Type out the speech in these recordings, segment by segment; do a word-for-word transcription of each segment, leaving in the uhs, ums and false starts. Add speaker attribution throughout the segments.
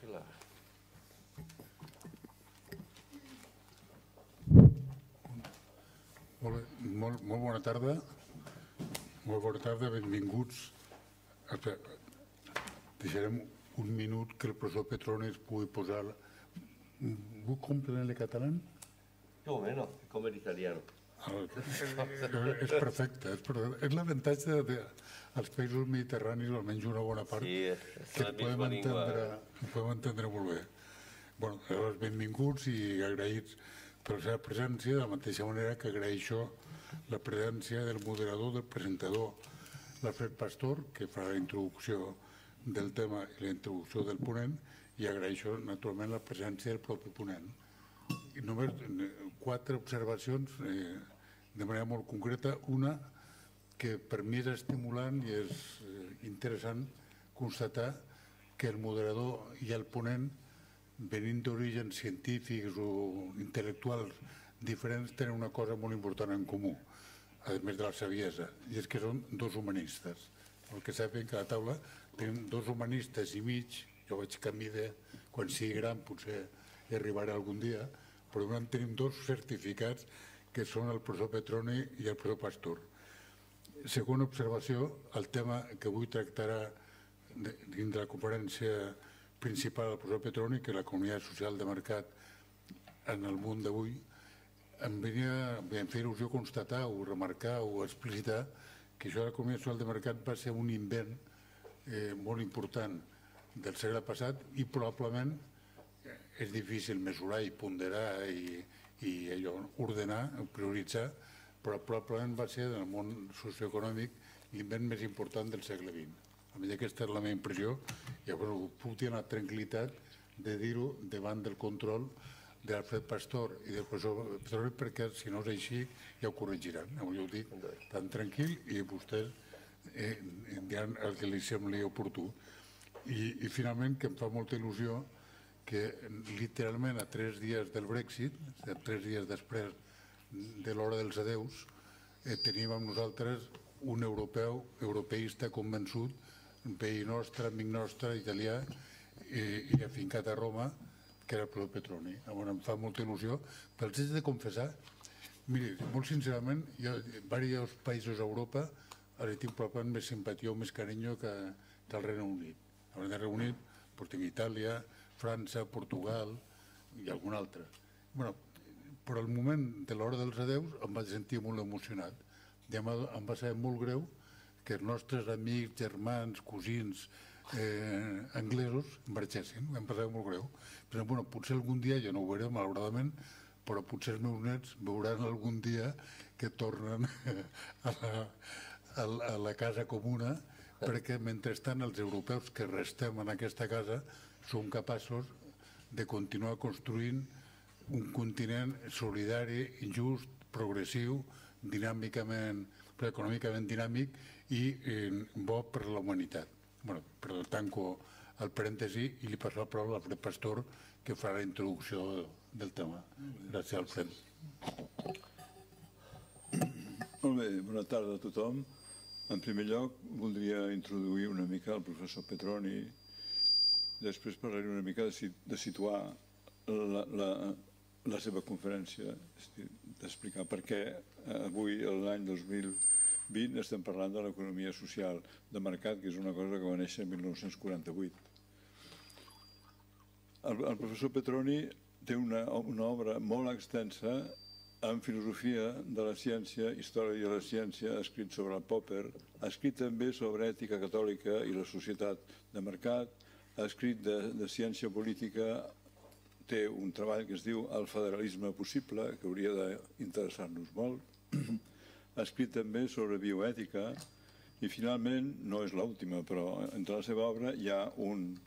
Speaker 1: Pilar.
Speaker 2: Molt, molt, molt bona tarda. Molt bona tarda, benvinguts. Deixarem un minut que el professor Petroni es pugui posar... ¿Vos comprendré catalán?
Speaker 1: Yo menos, como el italiano.
Speaker 2: És perfecte, és perfecte. És l'avantatge dels països mediterranis, almenys una bona part, que el podem entendre, podem entendre molt bé. Bueno, llavors, benvinguts i agraïts per la seva presència, de la mateixa manera que agraeixo la presència del moderador, del presentador, l'Alfred Pastor, que farà la introducció del tema i la introducció del ponent, i agraeixo naturalment la presència del propi ponent. I només quatre observacions de manera molt concreta. Una, que per mi és estimulant i és interessant constatar que el moderador i el ponent, venint d'orígens científics o intel·lectuals diferents, tenen una cosa molt important en comú, a més de la saviesa, i és que són dos humanistes. El que saben que a la taula tenim dos humanistes i mig, jo vaig canviar de, quan sigui gran potser hi arribaré algun dia, però tenim dos certificats que són el professor Petroni i el professor Pastor. Segona observació, el tema que avui tractarà dins de la conferència principal del professor Petroni, que és l'economia social de mercat en el món d'avui, em venia a fer il·lusió constatar o remarcar o explicitar que això de l'economia social de mercat va ser un invent molt important del segle passat i probablement és difícil mesurar i ponderar i ordenar, prioritzar, però probablement va ser en el món socioeconòmic l'invent més important del segle vint. Almenys aquesta és la meva impressió i llavors puc tenir la tranquil·litat de dir-ho davant del control de l'Alfred Pastor i del professor Petroni, perquè si no és així ja ho corregiran. Jo ho dic tan tranquil i vostès diran el que li sembli oportú. I finalment, que em fa molta il·lusió que literalment a tres dies del Brexit, tres dies després de l'hora dels adeus, teníem amb nosaltres un europeu, europeista convençut, veí nostre, amic nostre, italià i afincat a Roma, que era el professor Petroni. Em fa molta il·lusió, però els haig de confessar, miri, molt sincerament, jo a diversos països a Europa ara tinc probablement més simpatia o més carinyo que del Regne Unit. Al Regne Unit, però tinc Itàlia, França, Portugal i algun altre. Però al moment de l'hora dels adeus em vaig sentir molt emocionat. Em va saber molt greu que els nostres amics, germans, cosins anglesos marxessin. Em va saber molt greu. Però potser algun dia, jo no ho veuré malauradament, però potser els meus nets veuran algun dia que tornen a la casa comuna, perquè mentrestant els europeus que restem en aquesta casa som capaços de continuar construint un continent solidari, just, progressiu, dinàmicament, econòmicament dinàmic i bo per a la humanitat. Perdó, tanco el parèntesi i li passo la paraula a l'Alfred Pastor, que farà la introducció del tema. Gràcies, Alfred.
Speaker 3: Molt bé, bona tarda a tothom. En primer lloc, voldria introduir una mica el professor Petroni. Després parlaré una mica de situar la seva conferència, d'explicar per què avui, l'any dos mil vint, estem parlant de l'economia social de mercat, que és una cosa que va néixer el mil nou-cents quaranta-vuit. El professor Petroni té una obra molt extensa en filosofia de la ciència, història de la ciència, ha escrit sobre el Popper, ha escrit també sobre ètica catòlica i la societat de mercat, ha escrit de ciència política, té un treball que es diu El federalisme possible, que hauria d'interessar-nos molt. Ha escrit també sobre bioètica i finalment, no és l'última, però entre la seva obra hi ha un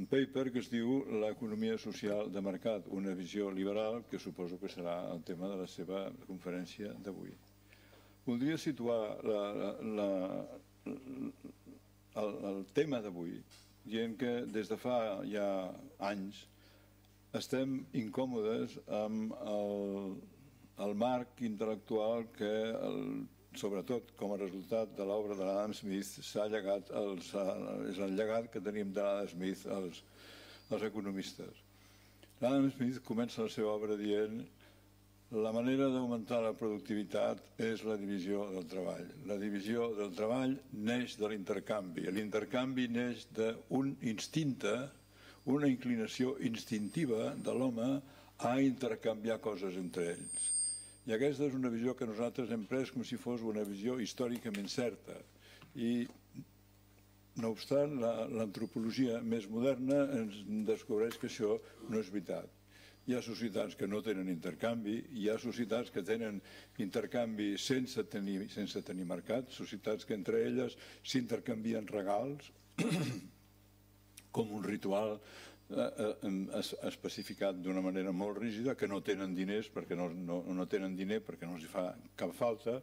Speaker 3: paper que es diu L'economia social de mercat, una visió liberal, que suposo que serà el tema de la seva conferència d'avui. Voldria situar el tema d'avui dient que des de fa ja anys estem incòmodes amb el marc intel·lectual que, sobretot com a resultat de l'obra de l'Adam Smith, s'ha llegat, és el llegat que tenim de l'Adam Smith els economistes. Adam Smith comença la seva obra dient: la manera d'augmentar la productivitat és la divisió del treball. La divisió del treball neix de l'intercanvi. L'intercanvi neix d'un instinte, una inclinació instintiva de l'home a intercanviar coses entre ells. I aquesta és una visió que nosaltres hem pres com si fos una visió històricament certa. I, no obstant, l'antropologia més moderna ens descobreix que això no és veritat. Hi ha societats que no tenen intercanvi, hi ha societats que tenen intercanvi sense tenir, sense tenir mercat, societats que entre elles s'intercanvien regals, com un ritual especificat d'una manera molt rígida, que no tenen diners perquè no, no, no tenen diner perquè no els fa cap falta,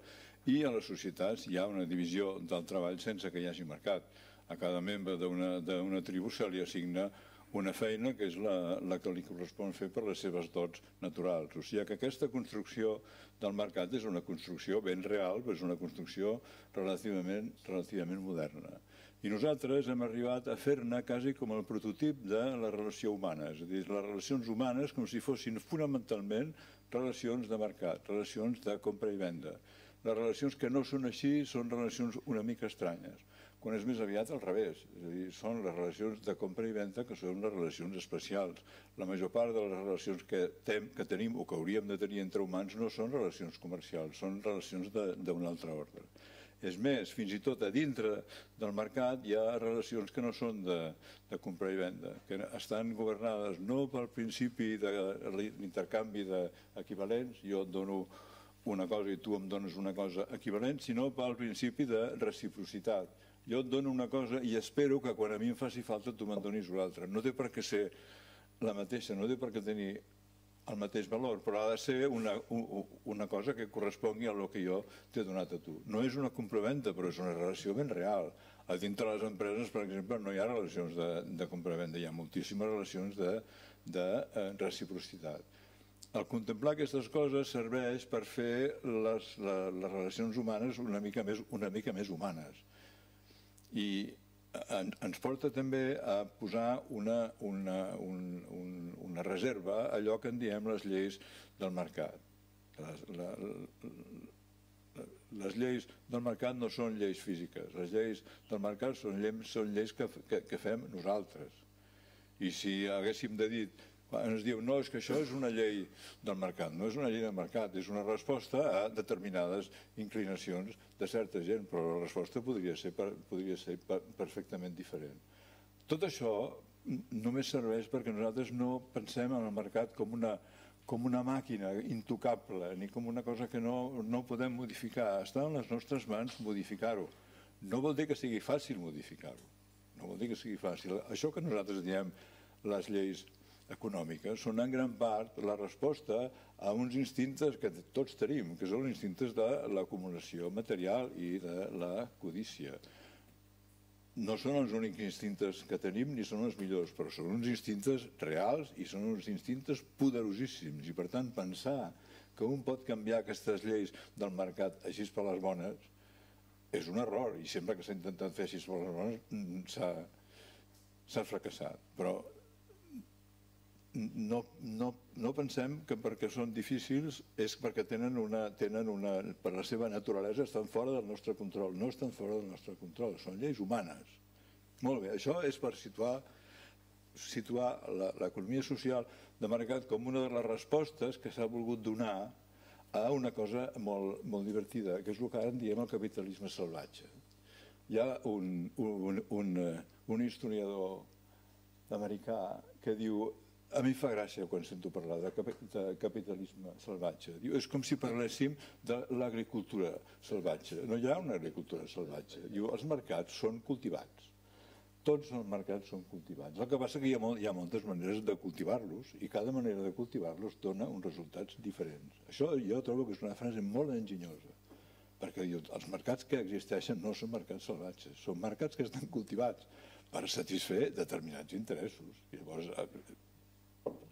Speaker 3: i a les societats hi ha una divisió del treball sense que hi hagi mercat. A cada membre d'una tribu se li assigna una feina que és la, la que li correspon fer per les seves dots naturals. O sigui que aquesta construcció del mercat és una construcció ben real, però és una construcció relativament, relativament moderna. I nosaltres hem arribat a fer-ne quasi com el prototip de la relació humana, és a dir, les relacions humanes com si fossin fonamentalment relacions de mercat, relacions de compra i venda. Les relacions que no són així són relacions una mica estranyes, quan és més aviat al revés, és a dir, són les relacions de compra i venda que són les relacions especials. La major part de les relacions que, tem, que tenim o que hauríem de tenir entre humans no són relacions comercials, són relacions d'un altre ordre. És més, fins i tot a dintre del mercat hi ha relacions que no són de, de compra i venda, que estan governades no pel principi de l'intercanvi d'equivalents, jo et dono una cosa i tu em dones una cosa equivalent, sinó pel principi de reciprocitat. Jo et dono una cosa i espero que quan a mi em faci falta tu me'n donis una altra. No té per què ser la mateixa, no té per què tenir el mateix valor, però ha de ser una, una cosa que correspongui a el que jo t'he donat a tu. No és una compra-venda, però és una relació ben real. A dintre de les empreses, per exemple, no hi ha relacions de, de compra-venda, hi ha moltíssimes relacions de, de eh, reciprocitat. El contemplar aquestes coses serveix per fer les, les, les relacions humanes una mica més, una mica més humanes. I ens porta també a posar una, una, un, un, una reserva a allò que en diem les lleis del mercat. Les, la, les lleis del mercat no són lleis físiques, les lleis del mercat són lleis, són lleis que, que, que fem nosaltres. I si haguéssim de dir, ens diu, no, és que això és una llei del mercat, no és una llei del mercat, és una resposta a determinades inclinacions de certa gent, però la resposta podria ser, podria ser perfectament diferent. Tot això només serveix perquè nosaltres no pensem en el mercat com una, com una màquina intocable, ni com una cosa que no, no podem modificar. Està en les nostres mans modificar-ho. No vol dir que sigui fàcil modificar-ho, no vol dir que sigui fàcil. Això que nosaltres diem les lleis econòmiques són en gran part la resposta a uns instintes que tots tenim, que són els instintes de l'acumulació material i de la codícia. No són els únics instintes que tenim ni són els millors, però són uns instintes reals i són uns instintes poderosíssims. I per tant pensar que un pot canviar aquestes lleis del mercat així per les bones és un error, i sempre que s'ha intentat fer així per les bones s'ha fracassat. Però No, no, no pensem que perquè són difícils és perquè tenen una, tenen una, per la seva naturalesa estan fora del nostre control. No estan fora del nostre control, són lleis humanes. Molt bé, això és per situar, situar l'economia social de mercat com una de les respostes que s'ha volgut donar a una cosa molt, molt divertida, que és el que ara en diem el capitalisme salvatge. Hi ha un, un, un, un historiador americà que diu: a mi fa gràcia quan sento parlar de capitalisme salvatge. És com si parléssim de l'agricultura salvatge. No hi ha una agricultura salvatge. Diu, els mercats són cultivats. Tots els mercats són cultivats. El que passa que hi ha, molt, hi ha moltes maneres de cultivar-los i cada manera de cultivar-los dona uns resultats diferents. Això jo trobo que és una frase molt enginyosa, perquè diu, els mercats que existeixen no són mercats salvatges, són mercats que estan cultivats per satisfer determinats interessos. I llavors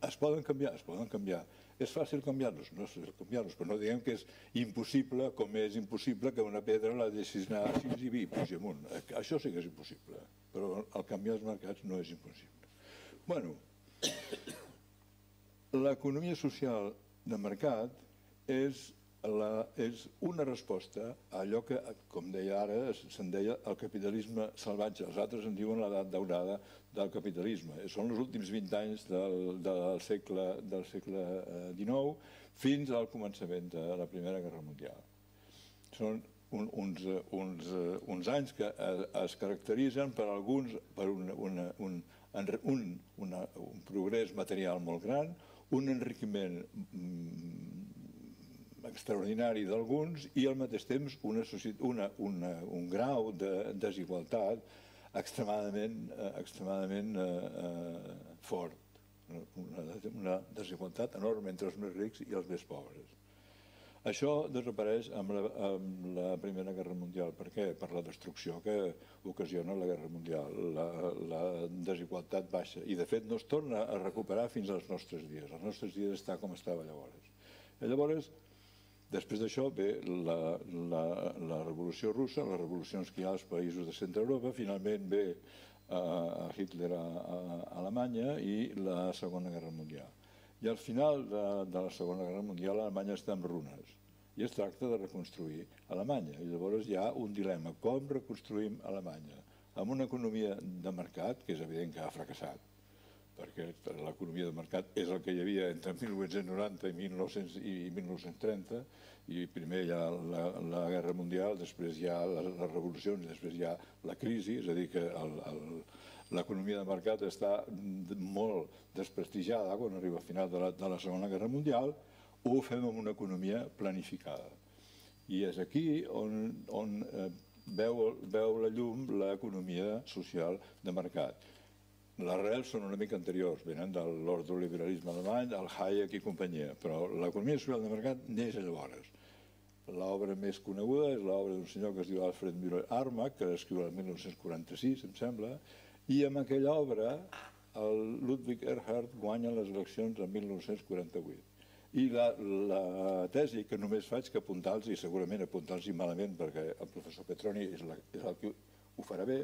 Speaker 3: es poden canviar, es poden canviar. És fàcil canviar-los? No és fàcil canviar-los, però no diguem que és impossible, com és impossible que una pedra la deixis anar així i pugi amunt. Això sí que és impossible, però el canviar els mercats no és impossible. Bueno, l'economia social de mercat és, la, és una resposta a allò que, com deia ara, se'n deia el capitalisme salvatge. Els altres en diuen l'edat daurada del capitalisme. Són els últims vint anys del, del segle, del segle dinou fins al començament de la Primera Guerra Mundial. Són un, uns, uns, uns anys que es caracteritzen per alguns per una, una, un, un, una, un progrés material molt gran, un enriquiment extraordinari d'alguns i al mateix temps una, una, una, un grau de desigualtat extremadament, extremadament eh, fort, una, una desigualtat enorme entre els més rics i els més pobres. Això desapareix amb la, amb la Primera Guerra Mundial. Per què? Per la destrucció que ocasiona la Guerra Mundial. La, la desigualtat baixa i de fet no es torna a recuperar fins als nostres dies. Els nostres dies està com estava llavors. I llavors, després d'això ve la, la, la Revolució Russa, les revolucions que hi ha als països de Centre Europa, finalment ve a Hitler a, a Alemanya i la Segona Guerra Mundial. I al final de, de la Segona Guerra Mundial Alemanya està en runes i es tracta de reconstruir Alemanya. I llavors hi ha un dilema, com reconstruïm Alemanya? Amb una economia de mercat, que és evident que ha fracassat, perquè l'economia de mercat és el que hi havia entre mil vuit-cents noranta i mil nou-cents trenta, i primer hi ha la, la Guerra Mundial, després hi ha les, les revolucions i després hi ha la crisi, és a dir, que el, el, l'economia de mercat està molt desprestigiada quan arriba al final de la, de la Segona Guerra Mundial, ho fem amb una economia planificada. I és aquí on, on eh, veu, veu la llum l'economia social de mercat. Les arrels són una mica anteriors, venen de l'ordoliberalisme alemany, el Hayek i companyia, però l'economia social de mercat neix llavors. L'obra més coneguda és l'obra d'un senyor que es diu Alfred Müller-Armack, que l'escriu el mil nou-cents quaranta-sis, em sembla, i amb aquella obra el Ludwig Erhard guanya les eleccions el mil nou-cents quaranta-vuit. I la, la tesi que només faig que apuntar-los, i segurament apuntar-los malament perquè el professor Petroni és, la, és el que ho farà bé,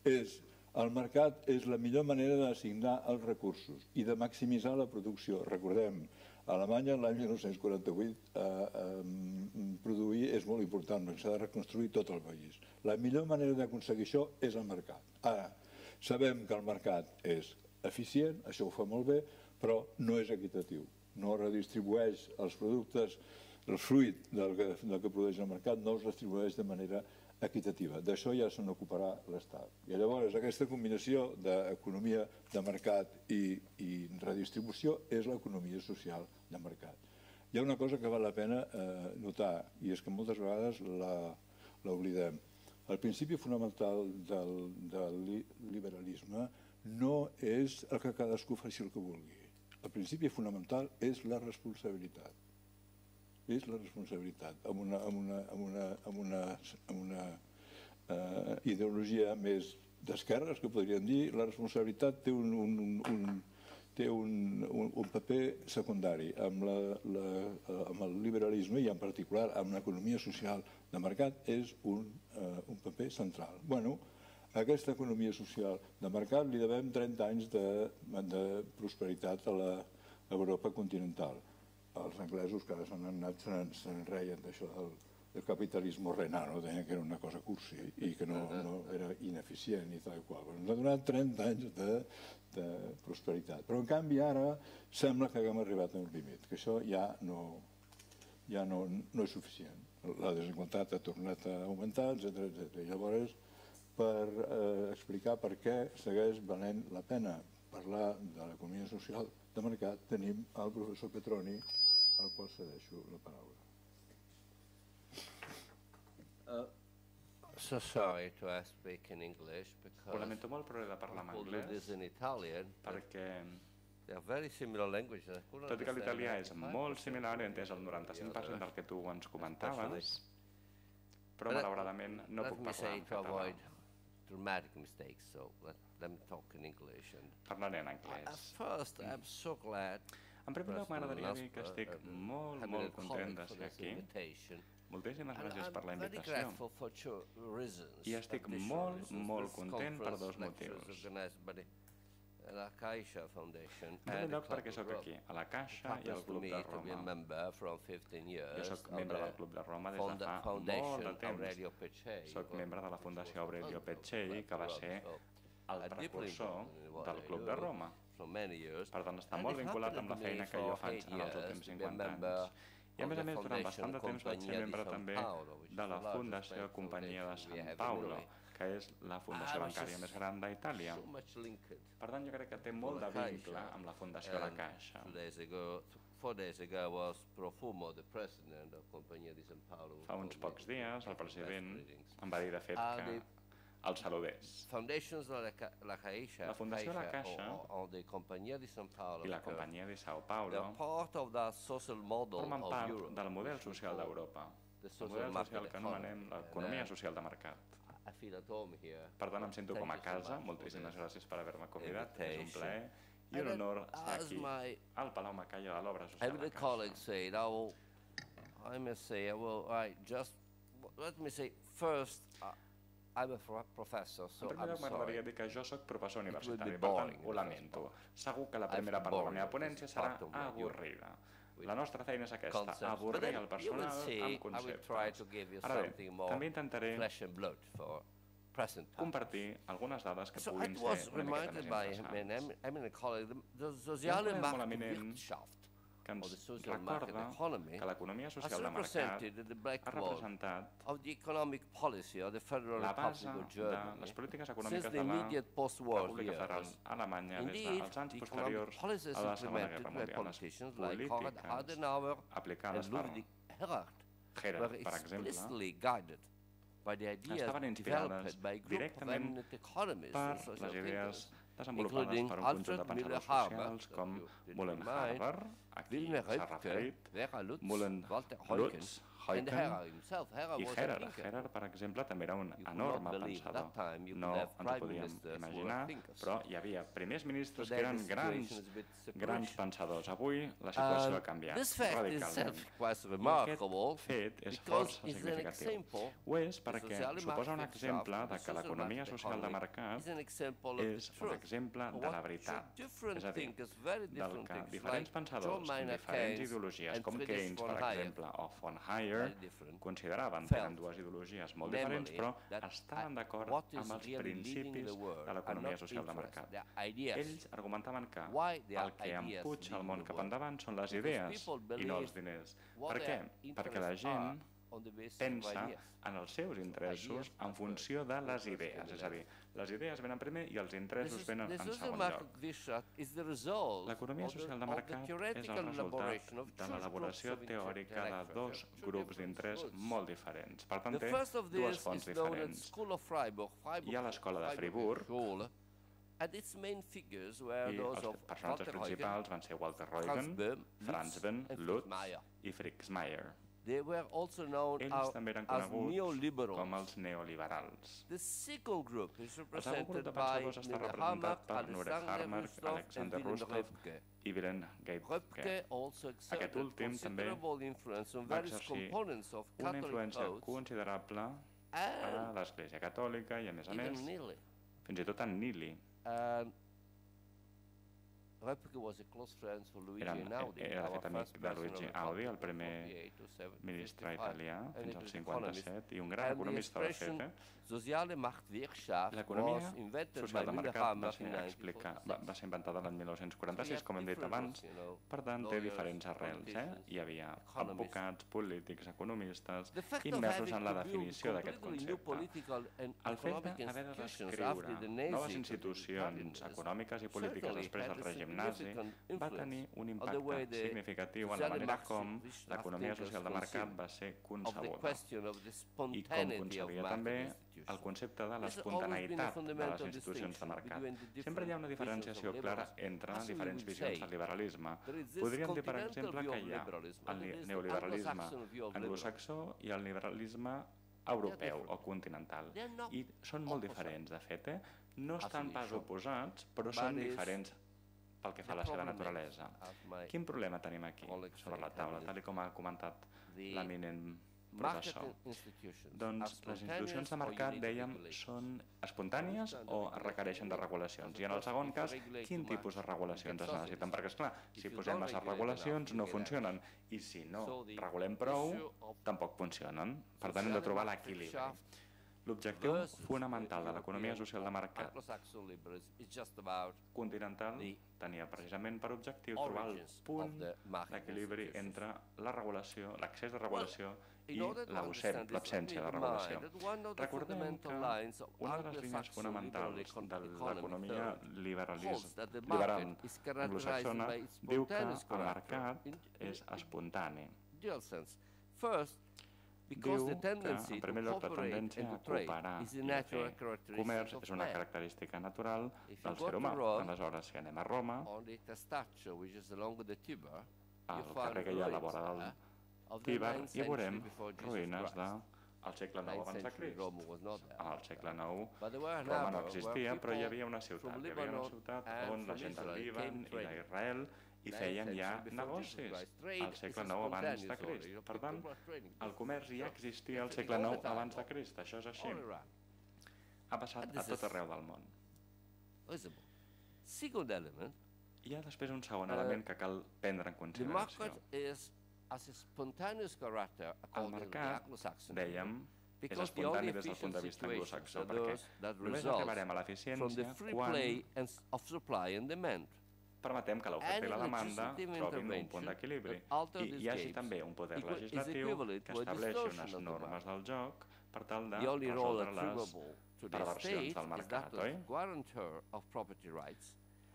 Speaker 3: és el mercat és la millor manera d'assignar els recursos i de maximitzar la producció. Recordem, a Alemanya l'any mil nou-cents quaranta-vuit eh, eh, produir és molt important, perquè s'ha de reconstruir tot el país. La millor manera d'aconseguir això és el mercat. Ara, sabem que el mercat és eficient, això ho fa molt bé, però no és equitatiu. No redistribueix els productes, el fruit del que, del que produeix el mercat, no els distribueix de manera equitativa. D'això ja se n'ocuparà l'Estat. I llavors aquesta combinació d'economia de mercat i, i redistribució és l'economia social de mercat. Hi ha una cosa que val la pena eh, notar, i és que moltes vegades l'oblidem. El principi fonamental del, del liberalisme no és el que cadascú faci el que vulgui. El principi fonamental és la responsabilitat. És la responsabilitat. Amb una, amb una, amb una, amb una, amb una eh, ideologia més d'esquerres, que podríem dir, la responsabilitat té un, un, un, té un, un, un paper secundari. Amb, la, la, amb el liberalisme, i en particular amb l'economia social de mercat, és un, eh, un paper central. Bueno, a aquesta economia social de mercat li devem trenta anys de, de prosperitat a l'Europa continental. Els anglesos que ara s'han anat se'n reien d'això del, del capitalisme renano, deien que era una cosa cursi i que no, no era ineficient i tal i qual. Ens ha donat trenta anys de, de prosperitat. Però en canvi ara sembla que haguem arribat a un límit, que això ja no, ja no, no és suficient. La desigualtat ha tornat a augmentar, etcètera, etcètera. I llavors, per eh, explicar per què segueix valent la pena parlar de l'economia social de mercat, tenim el professor Petroni, al qual cedeixo la paraula.
Speaker 1: Uh, so sorry to speak in English because
Speaker 4: Ho lamento molt, però he de parlar en anglès
Speaker 1: in Italian,
Speaker 4: perquè,
Speaker 1: they are very similar languages.
Speaker 4: tot i que l'italià és molt similar, he entès el noranta-cinc per cent del que tu ens comentaves, però malauradament no puc parlar en català.
Speaker 1: Dramatic mistakes, so let them talk in English. And
Speaker 4: Parlaré en anglès.
Speaker 1: at first, I'm so glad.
Speaker 4: En primer lloc, m'agradaria dir que estic molt, molt content de ser aquí. Moltíssimes gràcies per la invitació. I estic molt, molt content per dos motius.
Speaker 1: La Caixa Foundation
Speaker 4: En primer
Speaker 1: and the
Speaker 4: lloc, perquè
Speaker 1: Club
Speaker 4: sóc
Speaker 1: of
Speaker 4: aquí,
Speaker 1: Rome.
Speaker 4: a la Caixa
Speaker 1: It
Speaker 4: i al
Speaker 1: happens to
Speaker 4: Club
Speaker 1: me
Speaker 4: de
Speaker 1: to be a
Speaker 4: Roma.
Speaker 1: member from fifteen years
Speaker 4: Jo sóc
Speaker 1: of
Speaker 4: membre
Speaker 1: the
Speaker 4: del Club de Roma des de
Speaker 1: Fonda-
Speaker 4: fa molt de
Speaker 1: Foundation
Speaker 4: temps.
Speaker 1: Aurelio Peccei,
Speaker 4: Soc membre de la Fundació Aurelio Peccei, que va ser el
Speaker 1: a deeply
Speaker 4: precursor
Speaker 1: involved in what
Speaker 4: del
Speaker 1: I
Speaker 4: Club
Speaker 1: do
Speaker 4: de Roma.
Speaker 1: for many years.
Speaker 4: Per tant, està
Speaker 1: And
Speaker 4: molt
Speaker 1: it
Speaker 4: vinculat amb la
Speaker 1: happened to me
Speaker 4: feina que jo
Speaker 1: for
Speaker 4: faig
Speaker 1: eight
Speaker 4: en els
Speaker 1: years
Speaker 4: últims
Speaker 1: to be a
Speaker 4: cinquanta
Speaker 1: member
Speaker 4: anys. I a
Speaker 1: of
Speaker 4: més a
Speaker 1: the
Speaker 4: més, durant bastant de temps vaig ser
Speaker 1: Compagnia di
Speaker 4: membre
Speaker 1: San
Speaker 4: també
Speaker 1: Paolo, which is
Speaker 4: de
Speaker 1: the
Speaker 4: la
Speaker 1: largest
Speaker 4: Fundació
Speaker 1: bank
Speaker 4: Companyia de
Speaker 1: foundation we
Speaker 4: San
Speaker 1: have in
Speaker 4: Paolo,
Speaker 1: Italy.
Speaker 4: que és la fundació
Speaker 1: I was
Speaker 4: bancària
Speaker 1: just
Speaker 4: més gran d'Itàlia.
Speaker 1: So much linked
Speaker 4: Per tant, jo crec que té molt de
Speaker 1: to la
Speaker 4: vincle
Speaker 1: Caixa.
Speaker 4: amb la Fundació de la
Speaker 1: And
Speaker 4: Caixa.
Speaker 1: two days ago, four days ago was Profumo, the president of Compagnia di San Paolo.
Speaker 4: Fa uns pocs dies, el president
Speaker 1: Readings.
Speaker 4: em va dir, de fet,
Speaker 1: Ah,
Speaker 4: que el saludés.
Speaker 1: Foundations de la, Ca- la Caixa,
Speaker 4: La Fundació de la
Speaker 1: Caixa
Speaker 4: Caixa
Speaker 1: o, o the Compagnia di San Paolo,
Speaker 4: I la
Speaker 1: because
Speaker 4: Companyia di Sao
Speaker 1: they're
Speaker 4: Paulo
Speaker 1: part of the social model
Speaker 4: formen
Speaker 1: of
Speaker 4: part
Speaker 1: Europe,
Speaker 4: del model
Speaker 1: which we
Speaker 4: social
Speaker 1: call
Speaker 4: d'Europa,
Speaker 1: the
Speaker 4: el
Speaker 1: social
Speaker 4: model
Speaker 1: market
Speaker 4: social que anomenem
Speaker 1: economy.
Speaker 4: l'economia
Speaker 1: And, uh,
Speaker 4: social de mercat.
Speaker 1: I feel at home here.
Speaker 4: Per tant, em sento
Speaker 1: Thank
Speaker 4: com a
Speaker 1: you so
Speaker 4: casa.
Speaker 1: much for
Speaker 4: Moltíssimes
Speaker 1: this
Speaker 4: gràcies per haver-me convidat. És un
Speaker 1: invitation.
Speaker 4: plaer i un
Speaker 1: And
Speaker 4: honor
Speaker 1: then,
Speaker 4: estar
Speaker 1: as
Speaker 4: aquí
Speaker 1: my
Speaker 4: al Palau Macaya de l'Obra Social
Speaker 1: And
Speaker 4: de
Speaker 1: the colleagues
Speaker 4: Caixa.
Speaker 1: say, now, I must say, well, I just, let me say, first, uh, I'm a pro- professor, so
Speaker 4: En primer
Speaker 1: I'm
Speaker 4: lloc, m'agradaria
Speaker 1: sorry.
Speaker 4: dir que jo sóc professor
Speaker 1: will be
Speaker 4: universitari, per
Speaker 1: boring
Speaker 4: tant,
Speaker 1: in
Speaker 4: ho
Speaker 1: the
Speaker 4: lamento.
Speaker 1: first
Speaker 4: Segur que la
Speaker 1: I
Speaker 4: primera
Speaker 1: feel
Speaker 4: part de la
Speaker 1: boring
Speaker 4: meva
Speaker 1: because
Speaker 4: ponència
Speaker 1: it's
Speaker 4: serà
Speaker 1: part of my
Speaker 4: avorrida.
Speaker 1: with
Speaker 4: La nostra feina és aquesta,
Speaker 1: concepts. But
Speaker 4: avorrir
Speaker 1: then
Speaker 4: el
Speaker 1: you will
Speaker 4: personal
Speaker 1: see,
Speaker 4: amb
Speaker 1: I will try
Speaker 4: conceptes.
Speaker 1: to give you
Speaker 4: Ara bé,
Speaker 1: something more
Speaker 4: també intentaré
Speaker 1: flesh and blood for present times.
Speaker 4: compartir algunes dades que
Speaker 1: So I
Speaker 4: puguin
Speaker 1: was
Speaker 4: ser una miqueta
Speaker 1: reminded
Speaker 4: més
Speaker 1: by
Speaker 4: interessants.
Speaker 1: an eminent colleague, the
Speaker 4: Hi ha un
Speaker 1: Soziale
Speaker 4: col·lega molt eminent
Speaker 1: Marktwirtschaft,
Speaker 4: que
Speaker 1: or the
Speaker 4: ens
Speaker 1: social market
Speaker 4: recorda
Speaker 1: economy,
Speaker 4: que l'economia
Speaker 1: has
Speaker 4: social de mercat
Speaker 1: represented the
Speaker 4: ha
Speaker 1: backbone
Speaker 4: representat
Speaker 1: of the economic policy of the Federal
Speaker 4: la
Speaker 1: Republic
Speaker 4: base
Speaker 1: of
Speaker 4: de
Speaker 1: Germany
Speaker 4: les polítiques
Speaker 1: since
Speaker 4: econòmiques
Speaker 1: the
Speaker 4: de la
Speaker 1: immediate post-war
Speaker 4: República Federal
Speaker 1: years.
Speaker 4: Alemanya des
Speaker 1: Indeed,
Speaker 4: dels anys
Speaker 1: the
Speaker 4: posteriors
Speaker 1: economic policies
Speaker 4: a la Segona
Speaker 1: implemented
Speaker 4: Guerra
Speaker 1: by
Speaker 4: Mundial. Les
Speaker 1: politicians like Konrad
Speaker 4: polítiques
Speaker 1: Adenauer
Speaker 4: aplicades
Speaker 1: and
Speaker 4: per
Speaker 1: Ludwig Erhard
Speaker 4: Gerhard,
Speaker 1: were
Speaker 4: per exemple,
Speaker 1: explicitly guided by the ideas
Speaker 4: estaven inspirades
Speaker 1: developed by a group of
Speaker 4: directament
Speaker 1: eminent economists
Speaker 4: per
Speaker 1: and social
Speaker 4: les idees
Speaker 1: thinkers,
Speaker 4: desenvolupades
Speaker 1: including
Speaker 4: per un conjunt de
Speaker 1: Alfred
Speaker 4: pensadors
Speaker 1: Müller-Harber,
Speaker 4: socials
Speaker 1: that
Speaker 4: com
Speaker 1: you did
Speaker 4: Mullen
Speaker 1: remind,
Speaker 4: Harber, a qui
Speaker 1: Wilhelm
Speaker 4: s'ha
Speaker 1: Röpke,
Speaker 4: referit,
Speaker 1: Vera Lutz,
Speaker 4: Mullen
Speaker 1: Walter
Speaker 4: Lutz,
Speaker 1: Huygens, and
Speaker 4: Huycken
Speaker 1: Herrer himself. Herrer
Speaker 4: i
Speaker 1: was a
Speaker 4: Gerhard.
Speaker 1: thinker.
Speaker 4: Gerhard, per exemple, també era un
Speaker 1: You could
Speaker 4: enorme
Speaker 1: not believe
Speaker 4: pensador.
Speaker 1: that time you
Speaker 4: No
Speaker 1: could have
Speaker 4: ens ho
Speaker 1: prime
Speaker 4: podíem
Speaker 1: ministers who were
Speaker 4: imaginar,
Speaker 1: thinkers.
Speaker 4: però hi havia primers ministres
Speaker 1: Today
Speaker 4: que eren
Speaker 1: the
Speaker 4: grans,
Speaker 1: situation is a bit
Speaker 4: grans
Speaker 1: separation.
Speaker 4: pensadors. Avui la situació
Speaker 1: Um,
Speaker 4: ha canviat
Speaker 1: this fact
Speaker 4: radicalment.
Speaker 1: itself quite
Speaker 4: I
Speaker 1: remarkable
Speaker 4: aquest fet és
Speaker 1: because
Speaker 4: força
Speaker 1: it's an
Speaker 4: significatiu.
Speaker 1: example.
Speaker 4: Ho és
Speaker 1: the
Speaker 4: perquè
Speaker 1: social
Speaker 4: suposa un
Speaker 1: market
Speaker 4: exemple
Speaker 1: shaft,
Speaker 4: de
Speaker 1: the
Speaker 4: que
Speaker 1: social
Speaker 4: l'economia
Speaker 1: market
Speaker 4: social de
Speaker 1: economy
Speaker 4: mercat
Speaker 1: is an example of
Speaker 4: és
Speaker 1: the
Speaker 4: un
Speaker 1: truth.
Speaker 4: exemple de
Speaker 1: What
Speaker 4: la
Speaker 1: two
Speaker 4: veritat.
Speaker 1: different
Speaker 4: És a dir,
Speaker 1: thinkers, very
Speaker 4: del
Speaker 1: different
Speaker 4: que
Speaker 1: thinkers,
Speaker 4: diferents
Speaker 1: like
Speaker 4: pensadors
Speaker 1: John
Speaker 4: amb
Speaker 1: Maynard
Speaker 4: diferents
Speaker 1: Keynes
Speaker 4: ideologies,
Speaker 1: and
Speaker 4: com
Speaker 1: Friedrich
Speaker 4: Keynes,
Speaker 1: von
Speaker 4: per
Speaker 1: Hayek,
Speaker 4: exemple, o von Hayek,
Speaker 1: very different,
Speaker 4: consideraven,
Speaker 1: felt,
Speaker 4: tenen dues ideologies molt
Speaker 1: namely,
Speaker 4: diferents, però
Speaker 1: that
Speaker 4: estaven d'acord
Speaker 1: what is
Speaker 4: amb els
Speaker 1: really leading
Speaker 4: principis
Speaker 1: the world
Speaker 4: de
Speaker 1: are
Speaker 4: l'economia
Speaker 1: not
Speaker 4: social de
Speaker 1: interests,
Speaker 4: mercat.
Speaker 1: they're ideas.
Speaker 4: Ells argumentaven que
Speaker 1: Why their
Speaker 4: el que
Speaker 1: ideas
Speaker 4: empuja el
Speaker 1: lead
Speaker 4: món
Speaker 1: the
Speaker 4: cap
Speaker 1: world?
Speaker 4: endavant són les
Speaker 1: Because
Speaker 4: idees
Speaker 1: people
Speaker 4: i no els
Speaker 1: believe
Speaker 4: diners.
Speaker 1: what
Speaker 4: Per què?
Speaker 1: their
Speaker 4: Perquè la
Speaker 1: interests
Speaker 4: gent
Speaker 1: are on the basis of
Speaker 4: pensa
Speaker 1: ideas.
Speaker 4: en els seus interessos
Speaker 1: ideas
Speaker 4: en
Speaker 1: are
Speaker 4: funció de
Speaker 1: first,
Speaker 4: les
Speaker 1: first
Speaker 4: idees. És a dir,
Speaker 1: stimulate.
Speaker 4: les idees venen primer i els
Speaker 1: This
Speaker 4: interessos
Speaker 1: is-
Speaker 4: venen
Speaker 1: the
Speaker 4: en
Speaker 1: social
Speaker 4: segon
Speaker 1: market
Speaker 4: lloc.
Speaker 1: vision is the result
Speaker 4: L'economia
Speaker 1: of the-
Speaker 4: social de
Speaker 1: of the
Speaker 4: mercat és
Speaker 1: theoretical
Speaker 4: el
Speaker 1: elaboration of
Speaker 4: resultat de
Speaker 1: two
Speaker 4: l'elaboració
Speaker 1: groups of
Speaker 4: teòrica de
Speaker 1: intellectuals,
Speaker 4: dos
Speaker 1: two
Speaker 4: grups
Speaker 1: different
Speaker 4: d'interès
Speaker 1: schools.
Speaker 4: molt diferents. Per tant,
Speaker 1: The
Speaker 4: té
Speaker 1: first of
Speaker 4: dues
Speaker 1: these
Speaker 4: fonts
Speaker 1: is known as
Speaker 4: diferents.
Speaker 1: School of Freiburg, Freiburg
Speaker 4: Hi ha l'escola de
Speaker 1: Freiburg
Speaker 4: Friburg,
Speaker 1: Schule, and its main figures were
Speaker 4: i
Speaker 1: those
Speaker 4: els
Speaker 1: of
Speaker 4: personatges
Speaker 1: Walter Huygens,
Speaker 4: principals van ser Walter
Speaker 1: Franz
Speaker 4: Huygens,
Speaker 1: Böhm,
Speaker 4: Franz
Speaker 1: Lutz,
Speaker 4: Böhm,
Speaker 1: and
Speaker 4: Lutz
Speaker 1: Meyer.
Speaker 4: i Fritz Meyer.
Speaker 1: They were also known
Speaker 4: Ells
Speaker 1: as,
Speaker 4: també eren
Speaker 1: as
Speaker 4: coneguts
Speaker 1: neoliberals.
Speaker 4: com els neoliberals.
Speaker 1: The second group is
Speaker 4: El segon grup
Speaker 1: represented
Speaker 4: de
Speaker 1: by
Speaker 4: pensadors està
Speaker 1: Nina
Speaker 4: representat per Nure
Speaker 1: Alexander
Speaker 4: Harmer,
Speaker 1: Rustov and
Speaker 4: Alexander
Speaker 1: Wilhelm
Speaker 4: Rustov
Speaker 1: Röpke.
Speaker 4: i Wilhelm
Speaker 1: Röpke
Speaker 4: Röpke.
Speaker 1: also
Speaker 4: Aquest
Speaker 1: exerted
Speaker 4: últim també
Speaker 1: considerable influence on
Speaker 4: va
Speaker 1: various
Speaker 4: exercir
Speaker 1: components of
Speaker 4: una
Speaker 1: Catholic
Speaker 4: influència
Speaker 1: codes
Speaker 4: considerable a
Speaker 1: and
Speaker 4: l'Església Catòlica i, a més a
Speaker 1: even
Speaker 4: més,
Speaker 1: Nili.
Speaker 4: fins i tot en Nili.
Speaker 1: And Röpke was a close friend for Luigi
Speaker 4: Era,
Speaker 1: Einaudi,
Speaker 4: era de
Speaker 1: our
Speaker 4: fet amic
Speaker 1: first
Speaker 4: de
Speaker 1: president
Speaker 4: Luigi
Speaker 1: of the
Speaker 4: Audi, el
Speaker 1: Republic from
Speaker 4: primer
Speaker 1: forty-eight to seven-
Speaker 4: ministre
Speaker 1: fifty-five,
Speaker 4: italià
Speaker 1: and
Speaker 4: fins
Speaker 1: it
Speaker 4: al
Speaker 1: was
Speaker 4: cinquanta-set
Speaker 1: economist.
Speaker 4: i un gran
Speaker 1: And the
Speaker 4: economista de
Speaker 1: expression
Speaker 4: fet. Eh?
Speaker 1: Soziale Marktwirtschaft
Speaker 4: L'economia
Speaker 1: was invented by
Speaker 4: social de
Speaker 1: Müller
Speaker 4: mercat va
Speaker 1: Hammer
Speaker 4: ser,
Speaker 1: in
Speaker 4: explicar, va,
Speaker 1: nineteen
Speaker 4: va ser inventada l'any mil nou-cents quaranta-sis, com hem dit
Speaker 1: different
Speaker 4: abans.
Speaker 1: groups, you know,
Speaker 4: Per tant, té
Speaker 1: lawyers,
Speaker 4: diferents arrels. Eh?
Speaker 1: politicians,
Speaker 4: Hi havia
Speaker 1: economists.
Speaker 4: advocats, polítics, economistes,
Speaker 1: The fact of
Speaker 4: immersos
Speaker 1: having
Speaker 4: en la
Speaker 1: to build
Speaker 4: definició d'aquest
Speaker 1: completely new
Speaker 4: concepte.
Speaker 1: political and
Speaker 4: El fet
Speaker 1: economic
Speaker 4: d'haver de
Speaker 1: institutions
Speaker 4: descriure
Speaker 1: after the Nazi
Speaker 4: noves institucions econòmiques i polítiques
Speaker 1: certainly
Speaker 4: després
Speaker 1: had
Speaker 4: del
Speaker 1: a
Speaker 4: règim nazi
Speaker 1: significant
Speaker 4: va
Speaker 1: influence
Speaker 4: tenir un
Speaker 1: on the way
Speaker 4: impacte
Speaker 1: the
Speaker 4: significatiu en la
Speaker 1: socially
Speaker 4: manera com
Speaker 1: Marxist
Speaker 4: l'economia
Speaker 1: thinkers
Speaker 4: social de mercat
Speaker 1: conceived
Speaker 4: va ser
Speaker 1: of the
Speaker 4: concebuda
Speaker 1: question of the
Speaker 4: i com
Speaker 1: spontaneity of
Speaker 4: concebia
Speaker 1: market
Speaker 4: també el
Speaker 1: institutions.
Speaker 4: concepte de
Speaker 1: There's always been a
Speaker 4: l'espontaneïtat de les
Speaker 1: fundamental
Speaker 4: institucions de
Speaker 1: distinction
Speaker 4: mercat.
Speaker 1: between the
Speaker 4: Sempre hi ha una
Speaker 1: different
Speaker 4: diferenciació
Speaker 1: visions of
Speaker 4: clara
Speaker 1: liberalism.
Speaker 4: entre
Speaker 1: As we
Speaker 4: diferents
Speaker 1: would
Speaker 4: visions
Speaker 1: say,
Speaker 4: del liberalisme.
Speaker 1: there is this
Speaker 4: Podríem dir, per
Speaker 1: continental
Speaker 4: exemple,
Speaker 1: view
Speaker 4: que
Speaker 1: of
Speaker 4: hi ha
Speaker 1: liberalism,
Speaker 4: el
Speaker 1: and there is the
Speaker 4: neoliberalisme
Speaker 1: Anglo-Saxon view of
Speaker 4: anglosaxó i el liberalisme europeu
Speaker 1: different.
Speaker 4: o continental.
Speaker 1: They are not
Speaker 4: I són molt
Speaker 1: opposite.
Speaker 4: diferents, de fet. Eh? No estan pas
Speaker 1: això.
Speaker 4: oposats, però
Speaker 1: But
Speaker 4: són
Speaker 1: is
Speaker 4: diferents pel que fa a la
Speaker 1: the
Speaker 4: seva
Speaker 1: problem is,
Speaker 4: naturalesa.
Speaker 1: as my
Speaker 4: Quin problema tenim aquí
Speaker 1: colleagues
Speaker 4: sobre
Speaker 1: say,
Speaker 4: la taula,
Speaker 1: and
Speaker 4: tal com ha comentat
Speaker 1: the
Speaker 4: l'eminent professor. Doncs les institucions de mercat, dèiem, són espontànies o requereixen de regulacions? I en el segon cas, quin tipus de regulacions es necessiten? Perquè, esclar, si posem massa regulacions no funcionen i si no regulem prou, tampoc funcionen. Per tant, hem de trobar l'equilibri. L'objectiu fonamental de l'economia social de mercat continental tenia precisament per objectiu trobar el punt d'equilibri entre la regulació, l'accés de regulació i l'absència de regulació. Recordem que una de les línies fonamentals de l'economia liberal anglosaxona diu que el mercat és espontani. Diu que, en primer lloc, la tendència a cooperar i a fer comerç és una característica natural del ser humà. Aleshores, si anem a Roma, al carrer que hi ha a la vora del Tíber, hi veurem ruïnes del segle nou abans de Crist. Al segle nou Roma no existia, però hi havia una ciutat. Hi havia una ciutat on la gent del Líban i d'Israel i feien ja negocis al segle nou abans de Crist. Per tant, el comerç ja existia al segle nou abans de Crist, això és així. Ha passat a tot arreu del món. Hi ha després un segon element que cal prendre en consideració. El mercat, dèiem, és espontani des del punt de vista anglosaxó, perquè només arribarem a l'eficiència quan permetem que l'oferta i la demanda trobin un punt d'equilibri i hi hagi també un poder legislatiu que estableixi unes normes del joc per tal de resoldre les perversions del mercat, oi?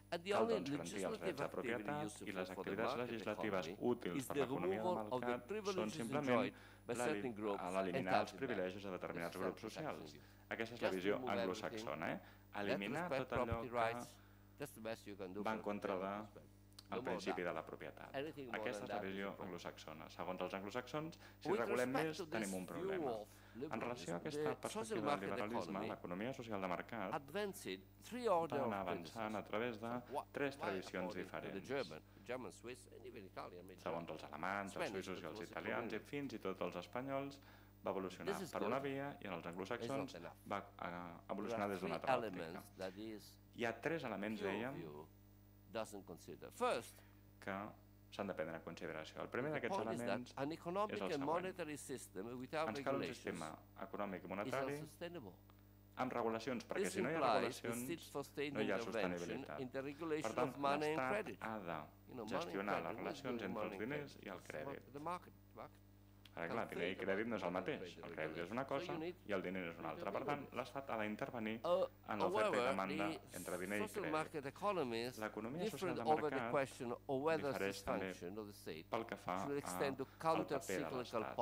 Speaker 4: Cal, doncs, garantir els drets de propietat i les activitats legislatives útils per l'economia del mercat són simplement eliminar els privilegis de determinats grups socials. Aquesta és la visió anglosaxona, eliminar tot allò que va en contra del principi de la propietat. Aquesta és la visió anglosaxona. Segons els anglosaxons, si regulem més, tenim un problema. En relació a aquesta perspectiva del liberalisme, l'economia social de mercat va anar avançant a través de tres tradicions diferents. Segons els alemanys, els suïssos i els italians, i fins i tot els espanyols, va evolucionar per una via i en els anglosaxons va evolucionar des d'una altra òptica. Hi ha tres elements, dèiem, que s'han de prendre en consideració. El primer d'aquests elements és el següent. Ens cal un sistema econòmic i monetari amb regulacions, perquè si no hi ha regulacions no hi ha sostenibilitat. Per tant, l'Estat ha de gestionar les relacions entre els diners i el crèdit. Ara, clar, diner i crèdit no és el mateix. El crèdit és una cosa i el diner és una altra. Per tant, l'Estat ha d'intervenir en l'oferta i demanda entre diner i crèdit. L'economia social de mercat difereix també pel que fa al paper de l'Estat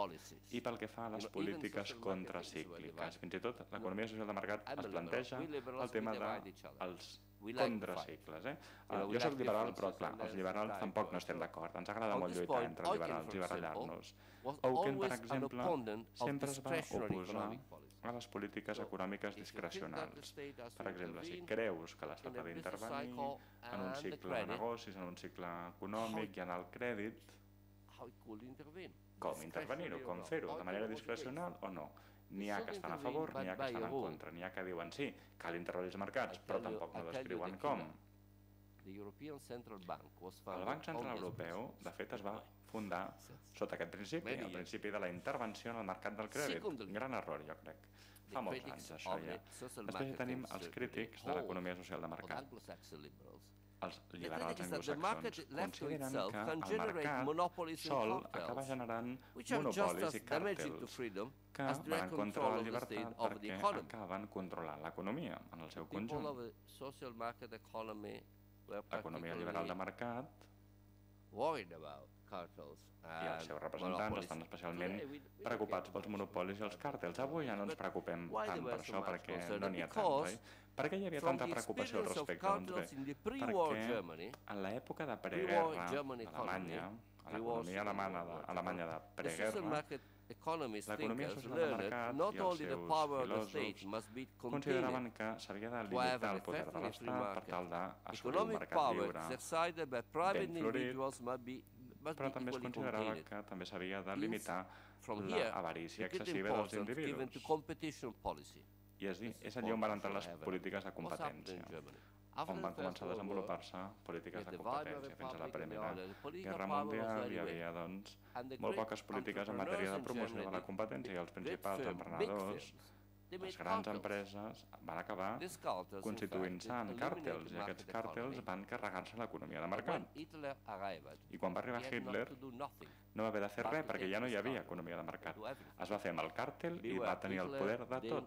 Speaker 4: i pel que fa a les polítiques contracícliques. Fins i tot, l'economia social de mercat es planteja el tema dels contracicles. Jo soc liberal, però clar, els liberals tampoc no estem d'acord. Ens agrada molt lluitar entre liberals i barallar-nos. Owen, per exemple, sempre es va oposar a les polítiques econòmiques discrecionals. Per exemple, si creus que l'Estat ha d'intervenir en un cicle de negocis, en un cicle econòmic i en el crèdit, com intervenir-ho, com fer-ho, de manera discrecional o no? N'hi ha que estan a favor, n'hi ha que estan en contra, n'hi ha que diuen sí, cal intervenir els mercats, però tampoc no descriuen com. El Banc Central Europeu, de fet, es va fundar sota aquest principi, el principi de la intervenció en el mercat del crèdit. Gran error, jo crec. Fa molts anys, això ja. Després hi tenim els crítics de l'economia social de mercat. Els liberals anglosaxons consideren que el mercat sol acaba generant monopolis i càrtels que van en contra de la llibertat perquè acaben controlant l'economia en el seu conjunt. L'economia liberal de mercat i els seus representants estan especialment preocupats pels monopolis i els càrtels. Avui ja no ens preocupem tant per això perquè no n'hi ha tant, oi? Per què hi havia tanta preocupació al respecte? Doncs bé, perquè en l'època de preguerra d'Alemanya, a l'economia alemanya de preguerra, l'economia social de mercat i els seus filòsofs consideraven que s'havia de limitar el poder de l'Estat per tal d'assolir un mercat lliure ben florit, però també es considerava que també s'havia de limitar l'avarícia excessiva dels individus. I és, és allà on van entrar les polítiques de competència, on van començar a desenvolupar-se polítiques de competència. Fins a la Primera Guerra Mundial hi havia doncs, molt poques polítiques en matèria de promoció de la competència i els principals emprenedors, les grans empreses, van acabar constituint-se en càrtels i aquests càrtels van carregar-se l'economia de mercat. I quan va arribar Hitler no va haver de fer res perquè ja no hi havia economia de mercat. Es va fer amb el càrtel i va tenir el poder de tot.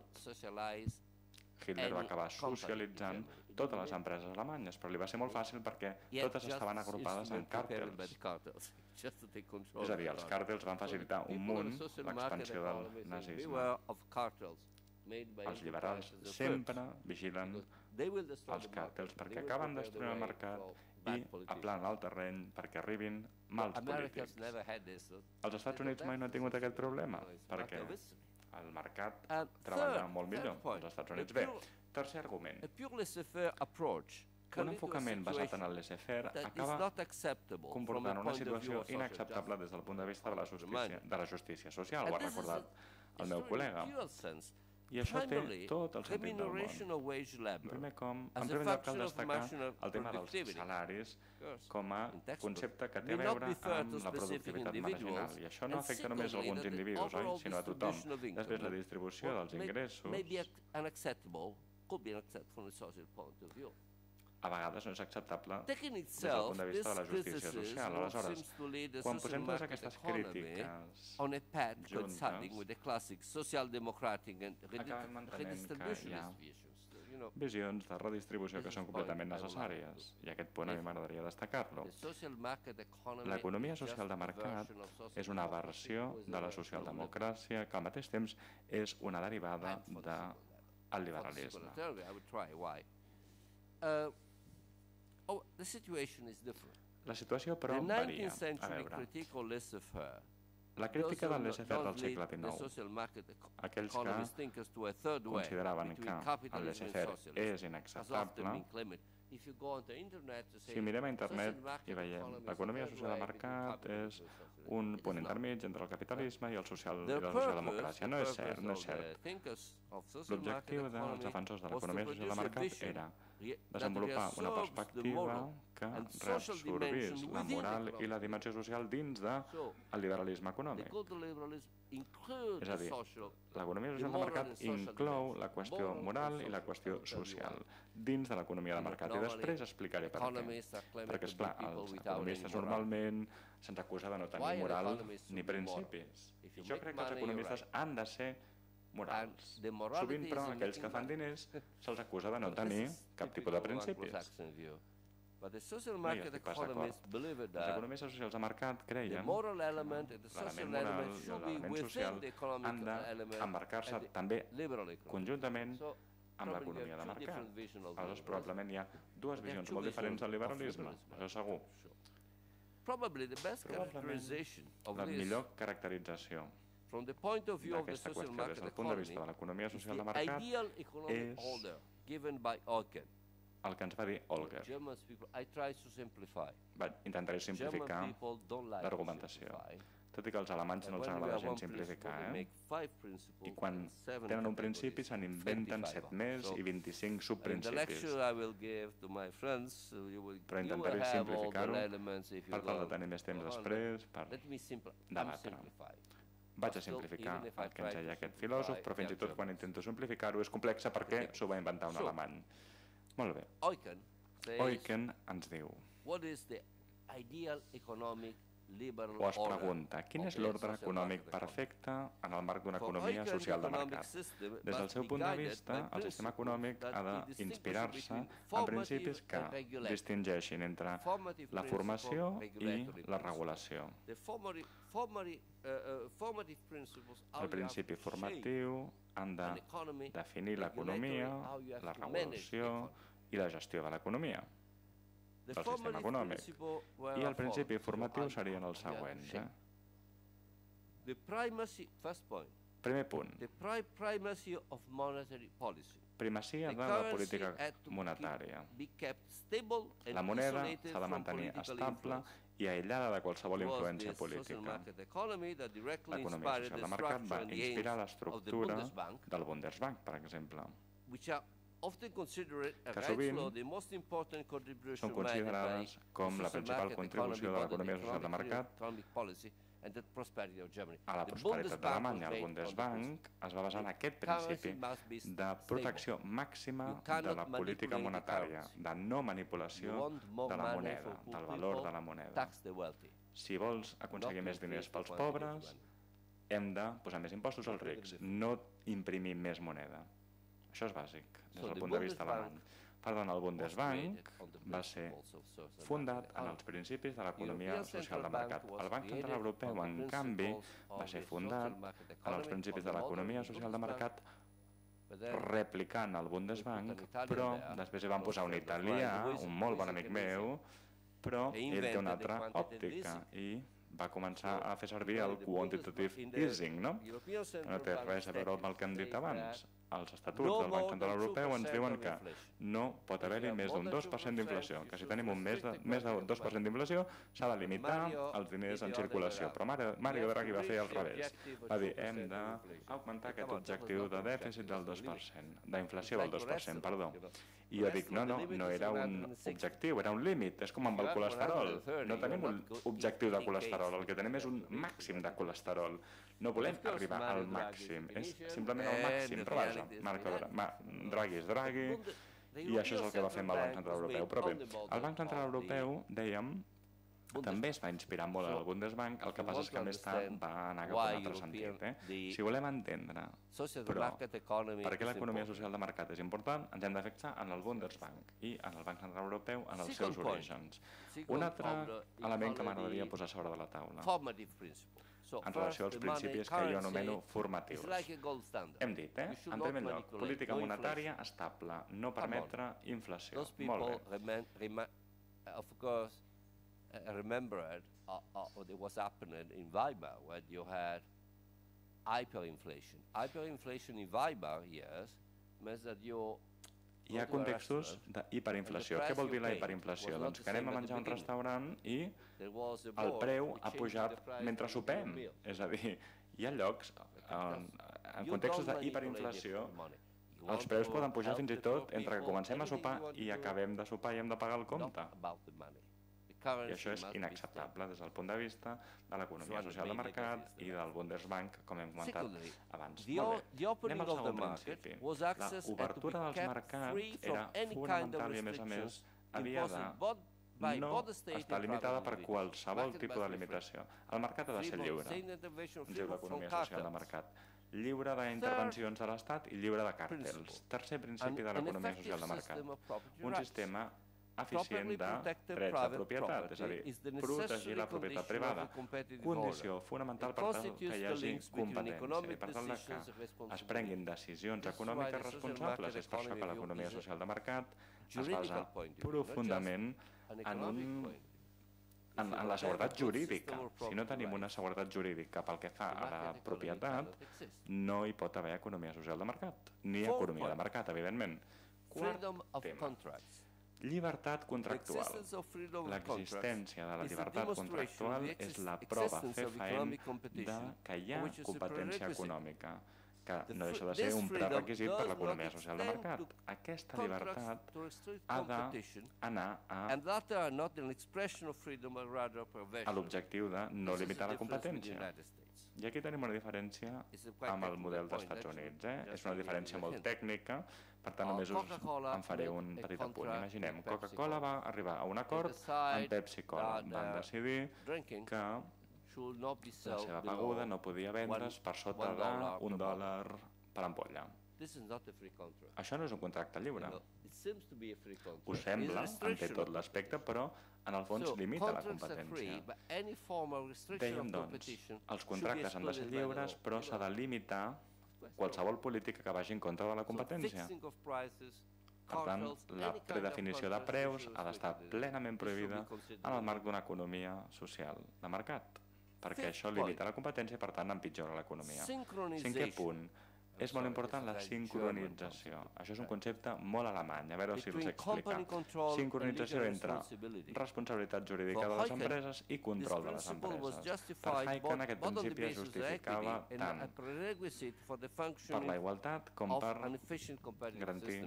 Speaker 4: Hitler va acabar socialitzant totes les empreses alemanyes, però li va ser molt fàcil perquè totes estaven agrupades en càrtels. És a dir, els càrtels van facilitar un munt l'expansió del nazisme. Els liberals sempre vigilen els càrtels perquè acaben destruint el mercat i aplanen el terreny perquè arribin mals polítics. Els Estats Units mai no han tingut aquest problema perquè el mercat treballa molt millor als Estats Units. Bé, tercer argument. Un enfocament basat en el laissez-faire acaba comportant una situació inacceptable des del punt de vista de la justícia, de la justícia social, ho ha recordat el meu col·lega. I això té tot el sentit del món. En primer, com, en primer lloc cal destacar el tema dels salaris com a concepte que té a veure amb la productivitat marginal. I això no afecta només alguns individus, oi? Sinó a tothom. Després, la distribució dels ingressos a vegades no és acceptable des del punt de vista de la justícia social. Aleshores, quan posem totes aquestes crítiques juntes, acabem entenent que hi ha visions de redistribució que són completament necessàries, i aquest punt a mi m'agradaria destacar-lo. L'economia social de mercat és una versió de la socialdemocràcia que al mateix temps és una derivada del liberalisme. La situació, però, varia. A veure, la crítica del laissez-faire del segle dinou, aquells que consideraven que el laissez-faire és inacceptable, si mirem a internet i veiem l'economia social de mercat és un punt intermig entre el capitalisme i el social i la socialdemocràcia. No és cert, no és cert. L'objectiu dels defensors de l'economia social de mercat era desenvolupar una perspectiva que reabsorbís la moral i la dimensió social dins del liberalisme econòmic. És a dir, l'economia social de mercat inclou la qüestió moral i la qüestió social dins de l'economia de mercat. I després explicaré per què. Perquè, esclar, els economistes normalment se'ns acusa de no tenir moral ni principis. Jo crec que els economistes han de ser morals. Sovint, però, aquells que fan diners se'ls acusa de no tenir cap tipus de principis. No hi estic pas d'acord. Els economistes socials de mercat creien que l'element moral i l'element social han d'embarcar-se també conjuntament amb l'economia de mercat. Aleshores, probablement hi ha dues visions molt diferents del liberalisme, això segur. Probablement la millor caracterització d'aquesta qüestió des del punt de vista de l'economia social de mercat és el que ens va dir Olger. Intentaré simplificar l'argumentació, tot i que als alemanys no els agrada gens simplificar, eh? I quan tenen un principi se'n inventen set més i vint-i-cinc subprincipis. Però intentaré simplificar-ho per tal de tenir més temps després per debatre. Vaig a simplificar el que ens deia aquest filòsof, però fins i tot quan intento simplificar-ho és complexa perquè s'ho va inventar un alemany. Molt bé. Eucken ens diu, o es pregunta, quin és l'ordre econòmic perfecte en el marc d'una economia social de mercat? Des del seu punt de vista, el sistema econòmic ha d'inspirar-se en principis que distingeixin entre la formació i la regulació. El principi formatiu han de definir l'economia, la regulació i la gestió de l'economia del sistema econòmic. I el principi formatiu serien els següents. Primer punt. primacia de la política monetària. La moneda s'ha de mantenir estable i aïllada de qualsevol influència política. L'economia social de mercat va inspirar l'estructura del Bundesbank, per exemple, que sovint són considerades com la principal contribució de l'economia social de mercat a la prosperitat d'Alemanya. El Bundesbank es va basar en aquest principi de protecció màxima de la política monetària, de no manipulació de la moneda, del valor de la moneda. Si vols aconseguir més diners pels pobres, hem de posar més impostos als rics, no imprimir més moneda. Això és bàsic, des del punt de vista alemany. Perdona, el Bundesbank va ser fundat en els principis de l'economia social de mercat. El Banc Central Europeu, en canvi, va ser fundat en els principis de l'economia social de mercat replicant el Bundesbank, però després hi van posar un italià, un molt bon amic meu, però ell té una altra òptica i va començar a fer servir el quantitative easing, no? No té res a veure amb el que hem dit abans. Els estatuts del Banc Central Europeu ens diuen que no pot haver-hi més d'un dos per cent d'inflació, que si tenim un més d'un dos per cent d'inflació s'ha de limitar els diners en circulació. Però Mario Draghi va fer al revés. Va dir, hem d'augmentar aquest objectiu de dèficit del dos per cent, d'inflació del dos per cent, perdó. I jo dic, no, no, no era un objectiu, era un límit, és com amb el colesterol. No tenim un objectiu de colesterol, el que tenim és un màxim de colesterol. No volem arribar al màxim, és simplement el màxim, però vaja, Draghi és Draghi, i això és el que va fer amb el Banc Central Europeu. Però bé, el Banc Central Europeu, dèiem, també es va inspirar molt en el Bundesbank, el que passa és que més tard va anar cap a un altre sentit. Si volem entendre, però, per què l'economia social de mercat és important, ens hem de fixar en el Bundesbank i en el Banc Central Europeu en els seus orígens. Un altre element que m'agradaria posar sobre de la taula, en relació als principis que jo anomeno formatius. Hem dit, eh? En primer lloc, política monetària estable, no permetre inflació. Molt bé.
Speaker 1: Of course, I remember what was happening in Weimar when you had hyperinflation. Hyperinflation in Weimar years means that you
Speaker 4: hi ha contextos d'hiperinflació. Què vol dir la hiperinflació? Doncs que anem a menjar a un restaurant i el preu ha pujat mentre sopem. És a dir, hi ha llocs, en contextos d'hiperinflació, els preus poden pujar fins i tot entre que comencem a sopar i acabem de sopar i hem de pagar el compte. I això és inacceptable des del punt de vista de l'economia social de mercat i del Bundesbank, com hem comentat abans. Molt bé, anem al segon principi. L'obertura dels mercats era fonamental i, a més a més, havia de no estar limitada per qualsevol tipus de limitació. El mercat ha de ser lliure, ens diu l'economia social de mercat. Lliure d'intervencions de l'Estat i lliure de càrtels. Tercer principi de l'economia social de mercat. Un sistema eficient de drets de propietat, és a dir, protegir la propietat privada. Condició fonamental per tal que hi hagi competència i per tal que es prenguin decisions econòmiques responsables. És per això que l'economia social de mercat es basa profundament en un En, en la seguretat jurídica. Si no tenim una seguretat jurídica pel que fa a la propietat, no hi pot haver economia social de mercat, ni economia de mercat, evidentment. Quart tema. Llibertat contractual. L'existència de la llibertat contractual és la prova fefaent de que hi ha competència econòmica, que no deixa de ser un prerequisit per l'economia social de mercat. Aquesta llibertat ha d'anar a, a l'objectiu de no limitar la competència. I aquí tenim una diferència amb el model dels Estats Units. Eh? És una diferència molt tècnica, per tant només us en faré un petit apunt. Imaginem, Coca-Cola va arribar a un acord amb Pepsi-Cola. Van decidir que la seva beguda no podia vendre's per sota d'un dòlar per ampolla. Això no és un contracte lliure. Ho sembla, en té tot l'aspecte, però en el fons limita la competència. Dèiem, doncs, els contractes han de ser lliures, però s'ha de limitar qualsevol política que vagi en contra de la competència. Per tant, la predefinició de preus ha d'estar plenament prohibida en el marc d'una economia social de mercat, perquè això limita la competència i, per tant, empitjora l'economia. Cinquè punt, És molt important la sincronització. Això és un concepte molt alemany, a veure si els explica. Sincronització entre responsabilitat jurídica de les empreses i control de les empreses. Per Hayek, aquest principi es justificava tant per la igualtat com per garantir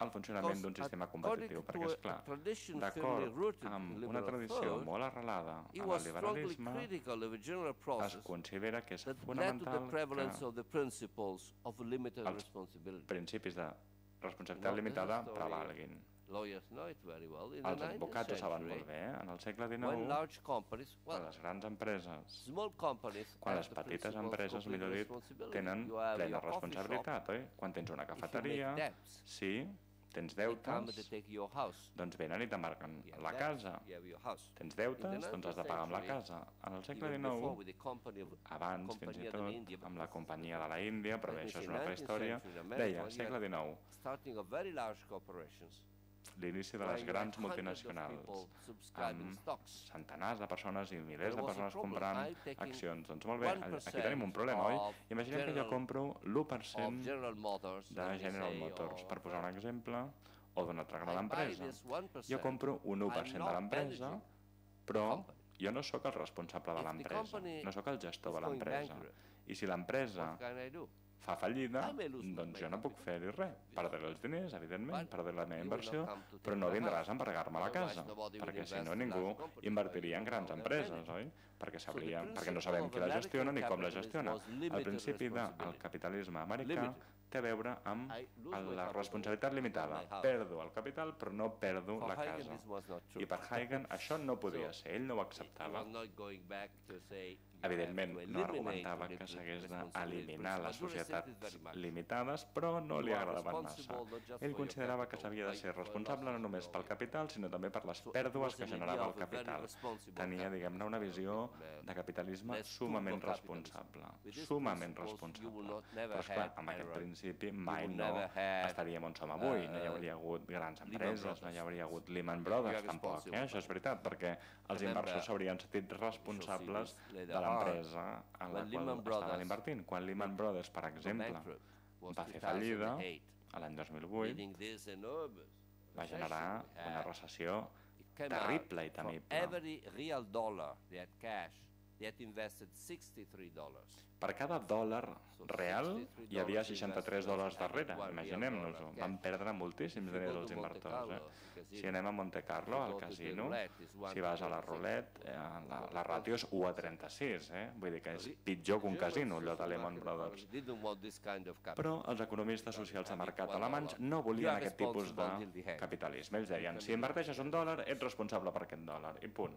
Speaker 4: el funcionament d'un sistema competitiu. Perquè, esclar, d'acord amb una tradició molt arrelada en el liberalisme, es considera que és fonamental que els principis de responsabilitat limitada prevalguin. Els advocats ho saben molt bé. En el segle dinou, quan les grans empreses, quan les petites empreses, millor dit, tenen plena responsabilitat, oi? Quan tens una cafeteria, sí, tens deutes, doncs venen i t'embarquen la casa. Tens deutes, doncs has de pagar amb la casa. En el segle dinou, abans fins i tot, amb la companyia de la Índia, però bé, això és una altra història, deia, segle dinou, l'inici de les grans multinacionals, amb centenars de persones i milers de persones comprant accions. Doncs molt bé, aquí tenim un problema, oi? Imaginem que jo compro l'u per cent de General Motors, per posar un exemple, o d'una altra gran empresa. Jo compro un u per cent de l'empresa, però jo no sóc el responsable de l'empresa, no sóc el gestor de l'empresa. I si l'empresa fa fallida, doncs jo no puc fer-hi res. Perdré els diners, evidentment, perdré la meva inversió, però no vindràs a embargar-me la casa, perquè si no ningú invertiria en grans empreses, oi? Perquè no sabem qui la gestiona ni com la gestiona. El principi del capitalisme americà té a veure amb la responsabilitat limitada. Perdo el capital, però no perdo la casa. I per Hayek això no podia ser, ell no ho acceptava. Evidentment, no argumentava que s'hagués d'eliminar les societats limitades, però no li agradaven massa. Ell considerava que s'havia de ser responsable no només pel capital, sinó també per les pèrdues que generava el capital. Tenia, diguem-ne, una visió de capitalisme sumament responsable. Sumament responsable. Però, esclar, amb aquest principi mai no estaríem on som avui. No hi hauria hagut grans empreses, no hi hauria hagut Lehman Brothers, tampoc. Això és veritat, perquè els inversors s'haurien sentit responsables de l'empresa en la qual estaven invertint. Quan Lehman Brothers, per exemple, va fer fallida, l'any dos mil vuit, va generar una recessió terrible i temible. Per cada dòlar real hi havia seixanta-tres dòlars darrere, imaginem-nos-ho. Van perdre moltíssims diners els inversors. Si anem a Monte Carlo, al casino, si vas a la roulette, la ràtio és u a trenta-sis, vull dir que és pitjor que un casino, allò de Lehman Brothers. Però els economistes socials de mercat alemanys no volien aquest tipus de capitalisme. Ells deien, si inverteixes un dòlar, ets responsable per aquest dòlar, i punt.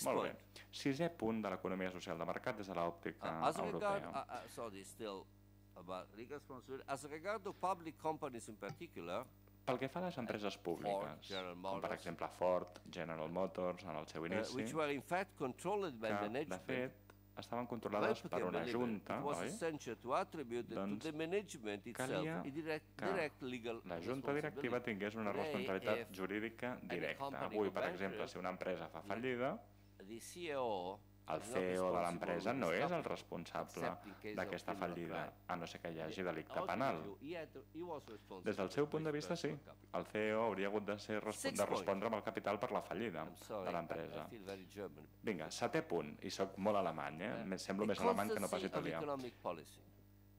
Speaker 4: Molt bé. Sisè punt de l'economia social de mercat des de l'òptica europea.
Speaker 1: Uh, uh, sorry, still about legal responsibility. As regard to public companies in particular,
Speaker 4: pel que fa a les empreses públiques, com per exemple Ford, General Motors, en el seu inici,
Speaker 1: uh, which were in fact controlled by
Speaker 4: que, de fet, estaven controlades per una junta, oi? Doncs calia que la junta directiva tingués una responsabilitat jurídica directa. Avui, per exemple, si una empresa fa fallida, el C E O de l'empresa no és el responsable d'aquesta fallida, a no ser que hi hagi delicte penal. Des del seu punt de vista, sí. El C E O hauria hagut de, ser, de respondre amb el capital per la fallida de l'empresa. Vinga, setè punt, i soc molt alemany, eh? Semblo més alemany que no pas italià.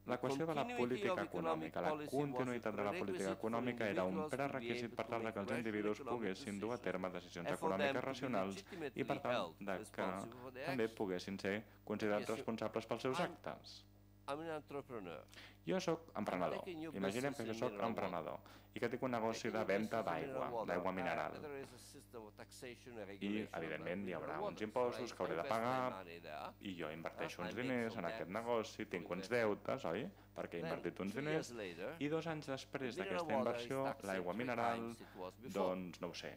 Speaker 4: La qüestió de la política econòmica, la continuïtat de la política econòmica era un prerequisit per tal que els individus poguessin dur a terme decisions econòmiques racionals i per tal que també poguessin ser considerats responsables pels seus actes. Jo sóc emprenedor. Imaginem que jo sóc emprenedor i que tinc un negoci de venda d'aigua, d'aigua mineral. I, evidentment, hi haurà uns impostos que hauré de pagar i jo inverteixo uns diners en aquest negoci, tinc uns deutes, oi? Perquè he invertit uns diners i dos anys després d'aquesta inversió, l'aigua mineral, doncs, no ho sé,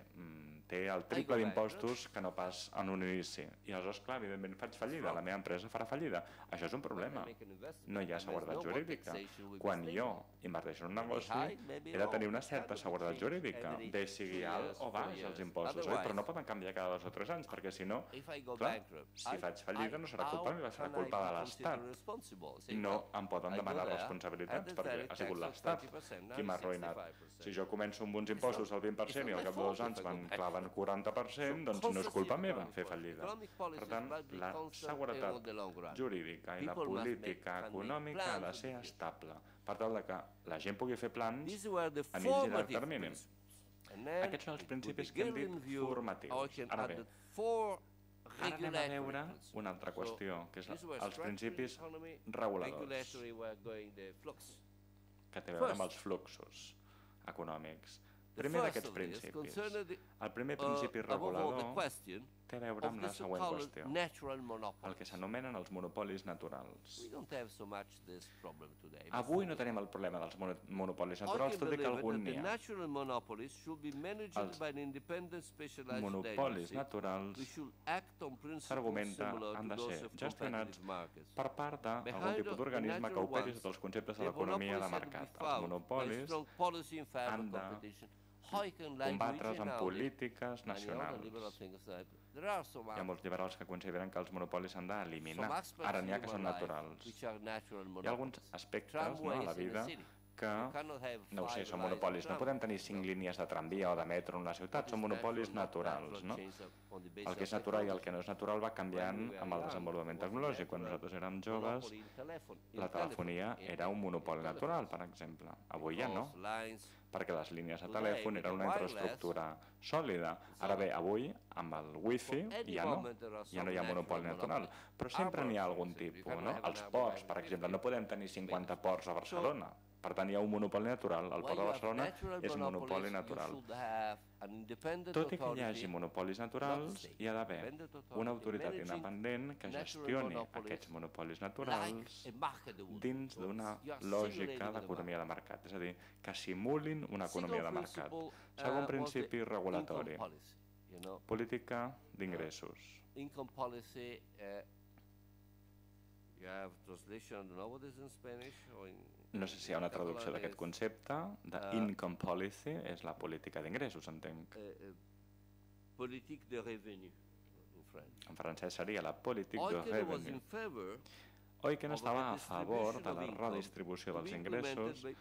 Speaker 4: té el triple d'impostos que no pas en un inici. I aleshores, clar, evidentment faig fallida, la meva empresa farà fallida. Això és un problema. No hi ha seguretat jurídica. Quan jo inverteixo en un negoci, he de tenir una certa seguretat jurídica, bé sigui alt o baix els impostos, oi? Però no poden canviar cada dos o tres anys, perquè si no, clar, si faig fallida no serà culpa meva, serà culpa de l'Estat. No em poden demanar responsabilitats, perquè ha sigut l'Estat qui m'ha arruïnat. Si jo començo amb uns impostos al vint per cent i al cap de dos anys me'n claven quaranta per cent, doncs no és culpa meva fer fallida. Per tant, la seguretat jurídica i la política econòmica ha de ser estable, per tal que la gent pugui fer plans a mig i llarg termini. Aquests són els principis que hem dit formatius. Ara bé, ara anem a veure una altra qüestió, que és els principis reguladors, que té a veure amb els fluxos econòmics. Primer d'aquests principis. El primer principi regulador té a veure amb la següent qüestió, el que s'anomenen els monopolis naturals. Avui no tenim el problema dels monopolis naturals, tot i que algun n'hi ha. Els monopolis naturals, s'argumenta, han de ser gestionats per part d'algun tipus d'organisme que operi sota els conceptes de l'economia de mercat. Els monopolis han de combatre's amb polítiques nacionals. Hi ha molts liberals que consideren que els monopolis s'han d'eliminar. Ara n'hi ha que són naturals. Hi ha alguns aspectes a la vida que, no ho sé, són monopolis. No podem tenir cinc línies de tramvia o de metro en una ciutat, són monopolis naturals. El que és natural i el que no és natural va canviant amb el desenvolupament tecnològic. Quan nosaltres érem joves, la telefonia era un monopoli natural, per exemple. Avui ja no, perquè les línies de telèfon eren una infraestructura sòlida. Ara bé, avui, amb el wifi, ja no, ja no hi ha monopoli natural, però sempre n'hi ha algun tipus, no? Els ports, per exemple, no podem tenir cinquanta ports a Barcelona, per tant hi ha un monopoli natural, el port de Barcelona és un monopoli natural. Tot i que hi hagi monopolis naturals, hi ha d'haver una autoritat independent que gestioni aquests monopolis naturals dins d'una lògica d'economia de mercat, és a dir, que simulin una economia de mercat. Segon principi regulatori, política d'ingressos. No sé si hi ha una traducció d'aquest concepte, d'income policy, és la política d'ingressos, entenc.
Speaker 1: Politique de revenu,
Speaker 4: en francès seria la politique de revenu. Eucken estava a favor de la redistribució dels ingressos i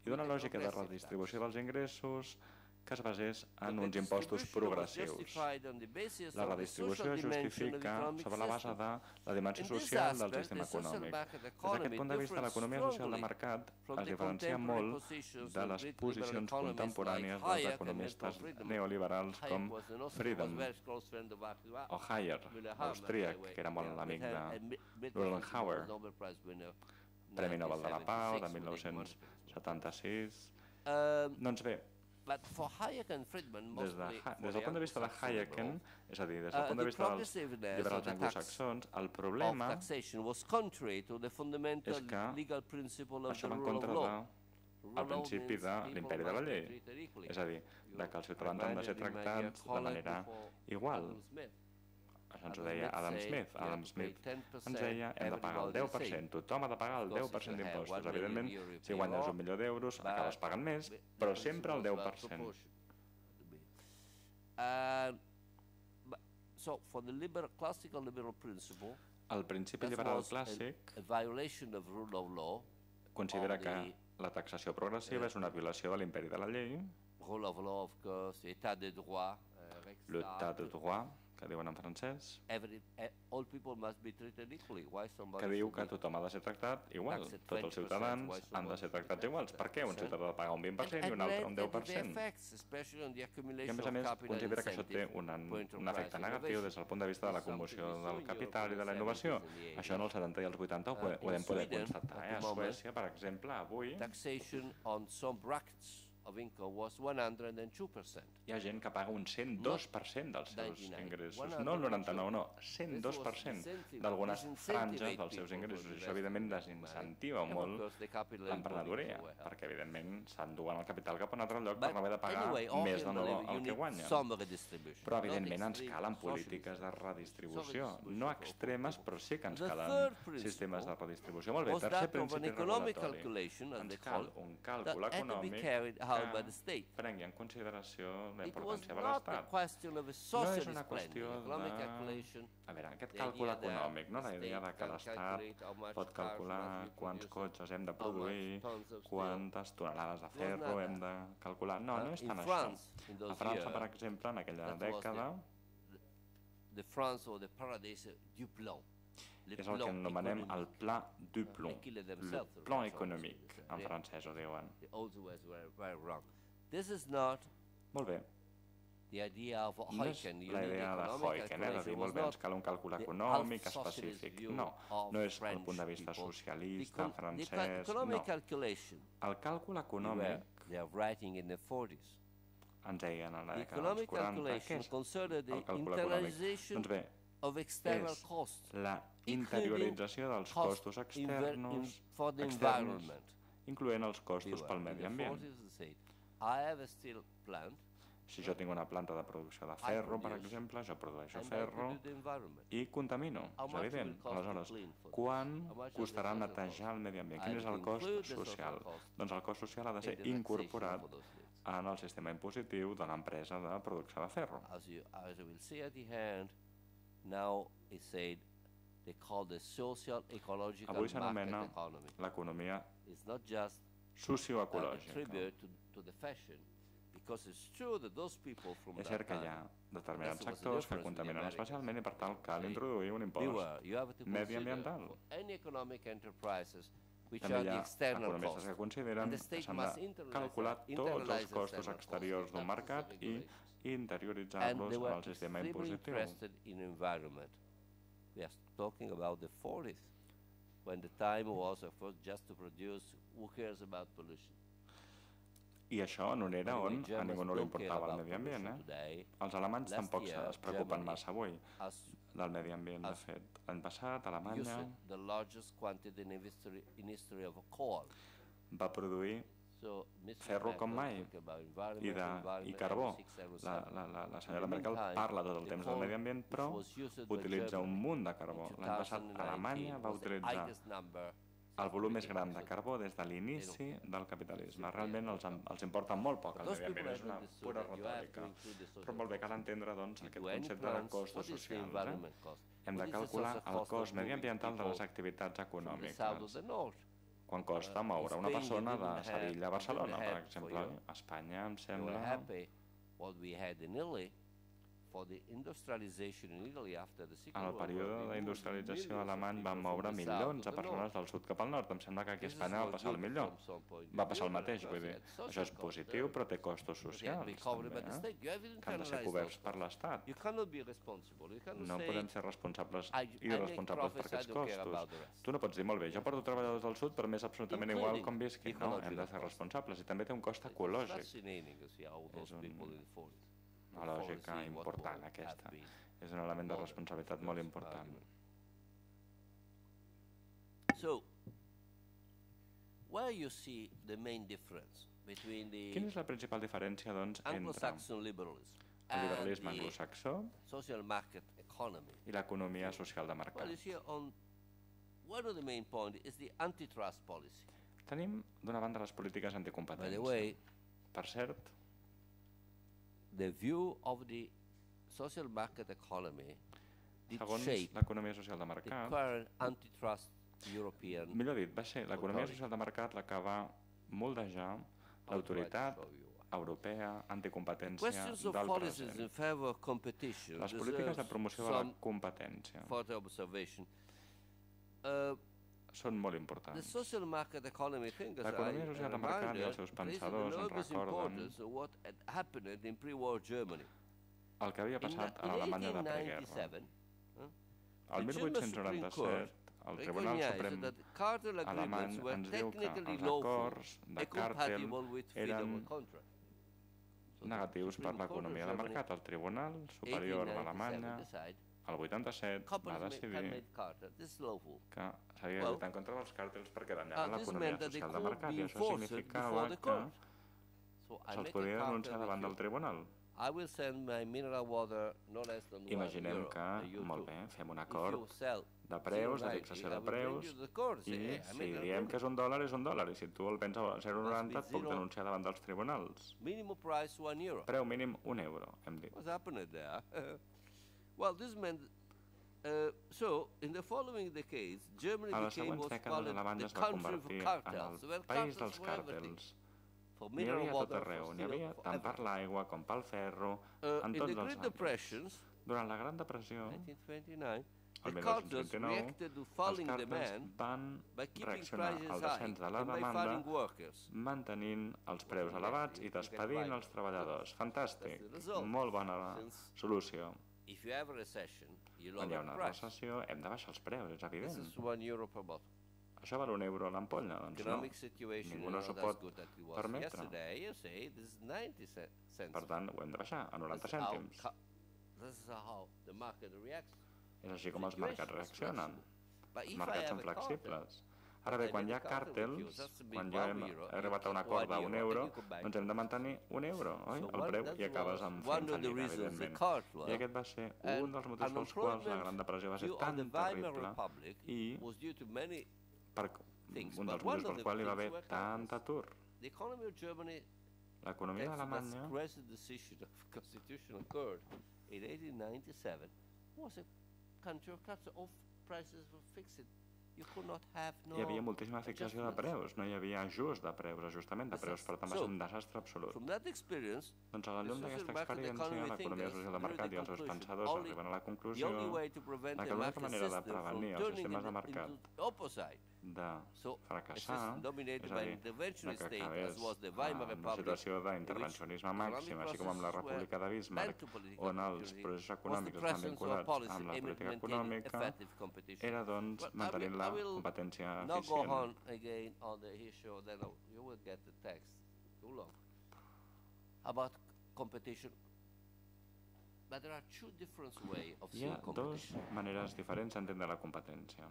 Speaker 4: d'una lògica de redistribució dels ingressos que es basés en uns impostos progressius. La redistribució es justifica sobre la base de la dimensió social del sistema econòmic. Des d'aquest punt de vista, l'economia social de mercat es diferencia molt de les posicions contemporànies dels economistes neoliberals com Friedman o Hayek, austríac, que era molt l'amic de Rollenhauer, Premi Nobel de la Pau de mil nou-cents setanta-sis. Doncs bé, des del punt de vista de Hayek, és a dir, des del punt de vista dels liberals anglosaxons, el problema és que això va en contra del principi de l'imperi de la llei, és a dir, que els ciutadans han de ser tractats de manera igual. Això ens ho deia Adam Smith. Adam Smith ens deia hem de pagar el deu per cent, tothom ha de pagar el deu per cent d'impostos. Evidentment, si guanyes un milió d'euros, acabes pagant més, però sempre el deu per cent. El principi liberal clàssic considera que la taxació progressiva és una violació de l'imperi de la llei, l'état de droit, que diuen en francès, que diu que tothom ha de ser tractat igual. Tots els ciutadans han de ser tractats iguals. Per què un ciutadà ha de pagar un vint per cent i un altre un deu per cent? I a més a més considera que això té un efecte negatiu des del punt de vista de l'acumulació del capital i de la innovació. Això en els setanta i els vuitanta ho podem poder constatar. A Suècia, per exemple, avui
Speaker 1: of income was one hundred two percent.
Speaker 4: Hi ha gent que paga un cent dos per cent dels seus ingressos, no el noranta-nou, no, cent dos per cent d'algunes franges dels seus ingressos. Això, evidentment, desincentiva molt l'emprenedoria, perquè, evidentment, s'enduen el capital cap a un altre lloc per no haver de pagar més de nou el que guanyen. Però, evidentment, ens calen polítiques de redistribució, no extremes, però sí que ens calen sistemes de redistribució. Molt bé, tercer principi regulatori. Ens cal un càlcul econòmic que prengui en consideració la importància de l'Estat. No és una qüestió de... A veure, aquest càlcul econòmic, no? La idea de que l'Estat pot calcular quants cotxes hem de produir, quantes tonelades de ferro hem de calcular... No, no és tant això. A França, per exemple, en aquella dècada... és el que anomenem el pla du plomb, el plan econòmic, en francès ho diuen. Molt bé. No és la idea de Huygens, de dir, molt bé, ens cal un càlcul econòmic específic. No, no és el punt de vista socialista, francès, no. El càlcul econòmic, ens deien a la dècada dels quaranta, què és el càlcul econòmic? Doncs bé, és la interiorització dels costos externs, externs, incloent els costos pel medi ambient. Si jo tinc una planta de producció de ferro, per exemple, jo produeixo ferro i contamino, és evident. Aleshores, quant costarà netejar el medi ambient? Quin és el cost social? Doncs el cost social ha de ser incorporat en el sistema impositiu de l'empresa de producció de ferro. Avui s'anomena l'economia socioecològica. És cert que hi ha determinats sectors que contaminen especialment i per tant cal introduir un impost mediambiental. També hi ha economistes que consideren que s'han de calcular tots els costos exteriors d'un mercat i interioritzar-los en el sistema impositiu.
Speaker 1: We are talking about the forties, when the time was of course just to produce, who cares about pollution?
Speaker 4: I això en una era on a ningú no li importava el medi ambient, eh? Els alemanys tampoc es preocupen massa avui del medi ambient, de fet. L'any passat, Alemanya va produir ferro com mai i carbó. La senyora Merkel parla tot el temps del medi ambient, però utilitza un munt de carbó. L'any passat Alemanya va utilitzar el volum més gran de carbó des de l'inici del capitalisme. Realment els importa molt poc el medi ambient, és una pura retòrica. Però molt bé, cal entendre aquest concepte de costos socials. Hem de calcular el cost mediambiental de les activitats econòmiques. Quan costa moure una persona de Sevilla a Barcelona, per exemple. A Espanya, em sembla... En el període d'industrialització alemany van moure milions de persones del sud cap al nord. Em sembla que aquí a Espanya va passar el millor. Va passar el mateix, vull dir. Això és positiu, però té costos socials, també, que han de ser coberts per l'Estat. No podem ser responsables i responsables per aquests costos. Tu no pots dir, molt bé, jo porto treballadors del sud, però m'és absolutament igual com visqui. No, hem de ser responsables i també té un cost ecològic. És una lògica important, aquesta. És un element de responsabilitat molt important. Quina és la principal diferència, doncs, entre el liberalisme anglosaxó i l'economia social de mercat? Tenim, d'una banda, les polítiques anticompetència. Per cert,
Speaker 1: the view of the social market economy did shape
Speaker 4: l'economia social de mercat,
Speaker 1: the current antitrust European.
Speaker 4: Millor dit, va ser l'economia social de mercat la que va moldejar l'autoritat europea anticompetència del present. Les polítiques de promoció de la competència són molt importants. L'economia social de mercat i els seus pensadors ens recorden el que havia passat a l'Alemanya de preguerra. El mil vuit-cents noranta-set, el Tribunal Suprem alemany ens diu que els acords de càrtel eren negatius per l'economia de mercat. El Tribunal Superior d'Alemanya, el vuitanta-set, va decidir que s'havia de lluitar en contra dels càrtels perquè danyaven l'economia social de mercat, i això significava que se'ls podia denunciar davant del tribunal. Imaginem que, molt bé, fem un acord de preus, de fixació de preus, i si diem que és un dòlar, és un dòlar, i si tu el vens a zero coma noranta et puc denunciar davant dels tribunals. Preu mínim un euro, hem dit. A les següents dècades, Alemanya es va convertir en el país dels càrtels. N'hi havia a tot arreu, n'hi havia tant per l'aigua com pel ferro, en tots els àmbits. Durant la Gran Depressió, el mil nou-cents vint-i-nou, els càrtels van reaccionar al descens de la demanda mantenint els preus elevats i despedint els treballadors. Fantàstic, molt bona solució. Quan hi ha una recessió hem de baixar els preus, és evident. Això val un euro a l'ampolla, doncs no. Ningú no s'ho pot permetre. Per tant, ho hem de baixar a noranta cèntims. És així com els mercats reaccionen. Els mercats són flexibles. Ara bé, quan hi ha càrtels, quan jo hem arribat a un acord d'un euro, doncs hem de mantenir un euro, oi? El preu, i acabes amb fentanil, evidentment. I aquest va ser un dels motius pels quals la Gran Depressió va ser tan terrible i per un dels motius pels quals hi va haver tant atur. L'economia d'Alemanya hi havia moltíssima fixació de preus, no hi havia ajust de preus, ajustament de preus, per tant va ser un desastre absolut. Doncs a la llum d'aquesta experiència, l'economia social de mercat i els seus pensadors arriben a la conclusió que l'única manera de prevenir els sistemes de mercat de fracassar, és a dir, que acabés en una situació d'intervencionisme màxim, així com amb la República de Bismarck, on els processos econòmics estan vinculats amb la política econòmica, era doncs mantenir la competència eficient. Hi ha dues maneres diferents d'entendre la competència.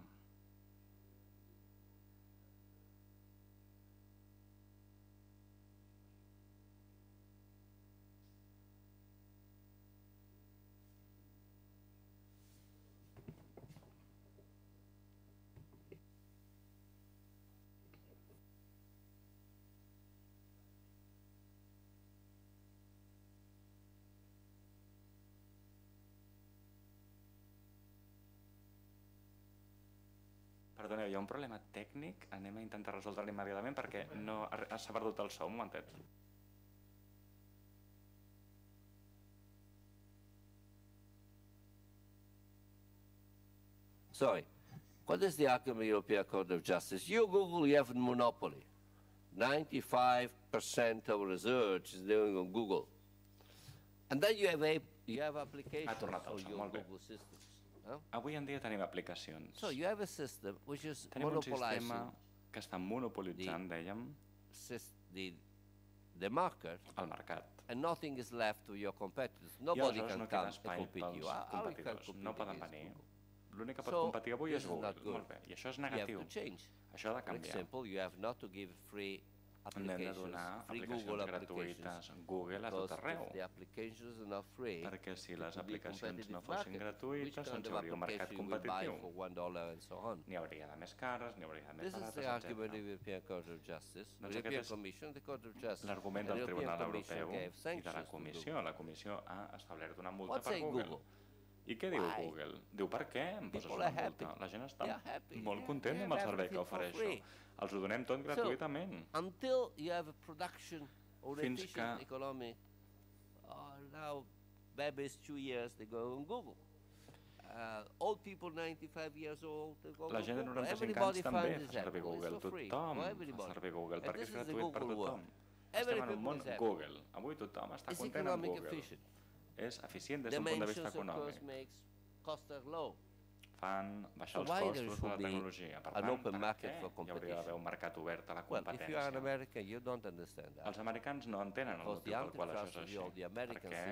Speaker 4: Perdoneu, hi ha un problema tècnic, anem a intentar resoldre-lo immediatament perquè s'ha perdut el so, un momentet.
Speaker 1: Sorry, what is the outcome of the European Court of Justice? You, Google, you have a monopoly. ninety-five percent of research is doing on Google. And then you have, a, you have applications for your Google system.
Speaker 4: Avui en dia tenim aplicacions.
Speaker 1: Tenim un sistema
Speaker 4: que està monopolitzant, dèiem, el mercat. I aleshores no queda espai pels competidors, no poden venir. L'únic que pot competir avui és Google. Molt bé, i això és negatiu. Això ha de canviar. Hem de donar aplicacions gratuïtes Google a tot arreu, perquè si les aplicacions no fossin gratuïtes doncs hi hauria un mercat competitiu. N'hi hauria de més cares, n'hi hauria de més barates, etcètera. L'argument del Tribunal Europeu i de la Comissió. La Comissió ha establert una multa per Google. I què diu Google? Diu, per què em poses una multa? La gent està molt content amb el servei que ofereixo. Els ho donem tot gratuïtament. Fins que la gent de noranta-cinc anys també fa servir Google. Tothom fa servir Google perquè és gratuït per tothom. Estem en un món Google. Avui tothom està content amb Google. És eficient des d'un punt de vista econòmic. fan baixar els costos de la tecnologia. Per tant, per què hi hauria d'haver un mercat obert a la competència? Els americans no entenen el motiu pel qual això és així, perquè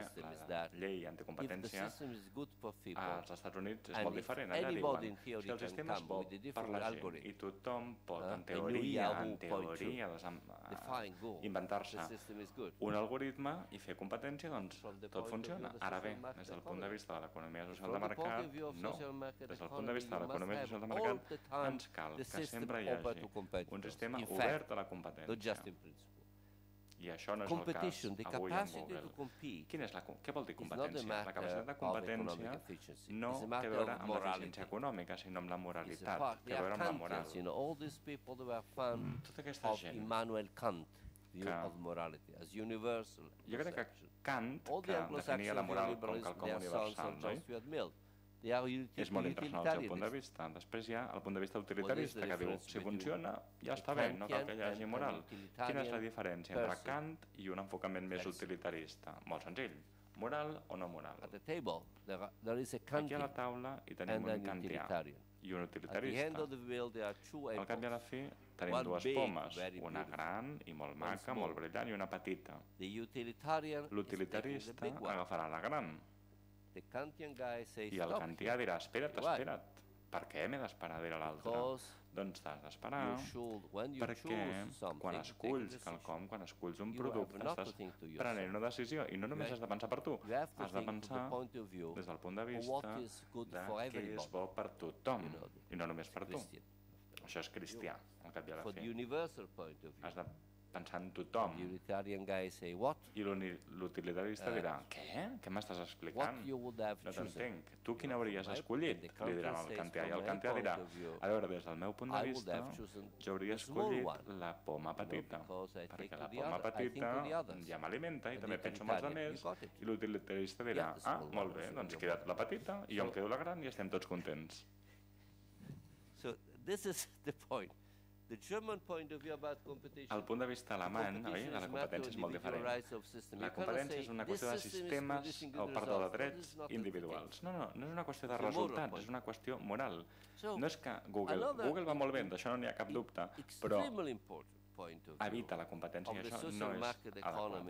Speaker 4: la llei anticompetència als Estats Units és molt diferent. Allà diuen, si el sistema és bo per la gent i tothom pot, en teoria, en teoria, inventar-se un algoritme i fer competència, doncs tot funciona. Ara bé, des del punt de vista de l'economia social de mercat, no. Des del punt de vista de l'economia social de mercat, ens cal que sempre hi hagi un sistema obert a la competència. I això no és el cas avui amb Google. Quin és la, què vol dir competència? La capacitat de competència no té a veure amb l'eficiència econòmica, sinó amb la moralitat, té a veure amb la moral. Tota aquesta gent que jo crec que Kant, que definia la moral com quelcom universal, no? És molt interessant el seu punt de vista. Després hi ha el punt de vista utilitarista, que diu, si funciona, ja està bé, no cal que hi hagi moral. Quina és la diferència entre Kant i un enfocament més utilitarista? Molt senzill. Moral o no moral? Aquí a la taula hi tenim un kantià i un utilitarista. Al cap i a la fi tenim dues pomes, una gran i molt maca, molt brillant, i una petita. L'utilitarista agafarà la gran. I el kantià dirà, espera't, espera't, per què m'he d'esperar dir a l'altre? Doncs t'has d'esperar, perquè quan esculls quelcom, quan esculls un producte, estàs prenent una decisió, i no només has de pensar per tu, has de pensar des del punt de vista de què és bo per tothom, i no només per tu. Això és cristià, al cap i a la fi. Has de pensar en tothom. I l'utilitarista dirà, què? Què m'estàs explicant? No t'entenc. Tu quin hauries escollit? Li diran al kantià. I el kantià dirà, a veure, des del meu punt de vista, jo hauria escollit la poma petita, perquè la poma petita ja m'alimenta i també penso en els altres, i l'utilitarista dirà, ah, molt bé, doncs queda't la petita i jo em quedo la gran i estem tots contents. El punt de vista alemany de la competència és molt diferent. La competència és una qüestió de sistemes, o perdó, de drets individuals. No, no, no és una qüestió de resultats, és una qüestió moral. No és que Google, Google va molt bé, d'això no n'hi ha cap dubte, però evita la competència i això no és adequat.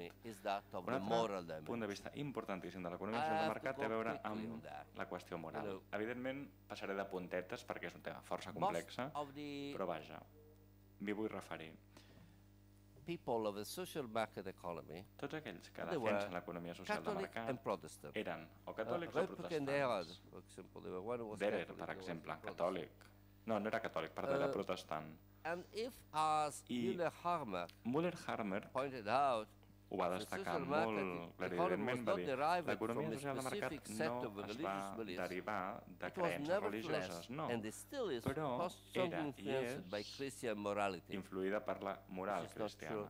Speaker 4: Un altre punt de vista importantíssim de l'economia social de mercat té a veure amb la qüestió moral. Evidentment, passaré de puntetes perquè és un tema força complex, però vaja, m'hi vull referir. Tots aquells que defensen l'economia social de mercat eren o catòlics o protestants. Derer, per exemple, catòlic. No, no era catòlic, perdó, era protestant. I Müller-Harmer ho va destacar molt claríssimament, va dir, l'economia social de mercat no es va derivar de creences religioses, no, però era i és influïda per la moral cristiana.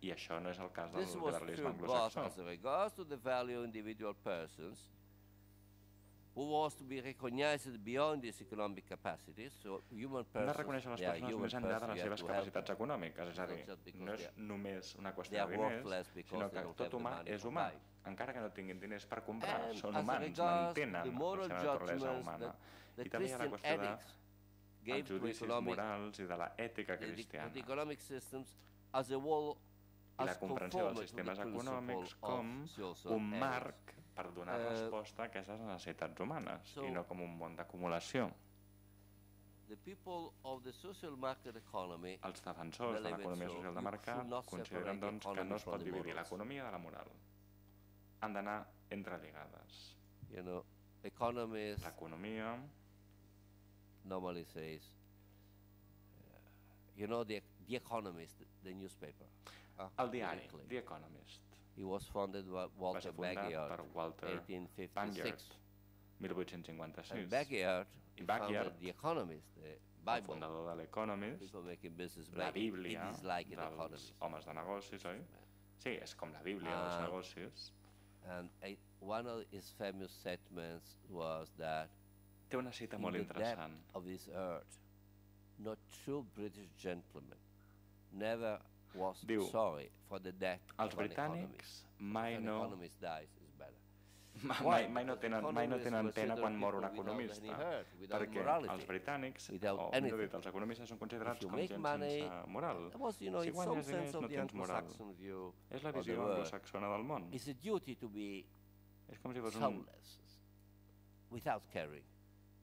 Speaker 4: I això no és el cas del liberalisme anglosaxó. No reconèixer les persones més enllà de les seves capacitats econòmiques, és a dir, no és només una qüestió de diners, sinó que tot humà és humà, encara que no tinguin diners per comprar, són humans, mantenen la seva naturalesa humana. I també hi ha la qüestió dels judicis morals i de l'ètica cristiana. I la comprensió dels sistemes econòmics com un marc per donar resposta a aquestes necessitats humanes i no com un món d'acumulació. Els defensors de l'economia social de mercat consideren doncs, que no es pot dividir l'economia de la moral. Han d'anar entrelligades. L'economia
Speaker 1: normally says, you know, the, the Economist, the newspaper.
Speaker 4: El diari, The Economist.
Speaker 1: He was founded by Walter Bagehot, eighteen fifty-six.
Speaker 4: mil vuit-cents cinquanta-sis.
Speaker 1: And Bagehot founded The Economist, the Bible.
Speaker 4: El fundador de l'Economist, la Bíblia dels homes de negocis, oi? Sí, és com la Bíblia dels negocis.
Speaker 1: And one of his famous statements was that
Speaker 4: té una cita molt interessant.
Speaker 1: Of this earth, not true British gentlemen never was
Speaker 4: Diu,
Speaker 1: sorry for the death
Speaker 4: els britànics mai no, mai, mai, no tenen, mai no tenen pena quan mor un economista, perquè els britànics, o millor dit, els economistes són considerats com gent sense moral. Si guanyes diners no tens moral. És la visió anglosaxona del món. És com si fos un...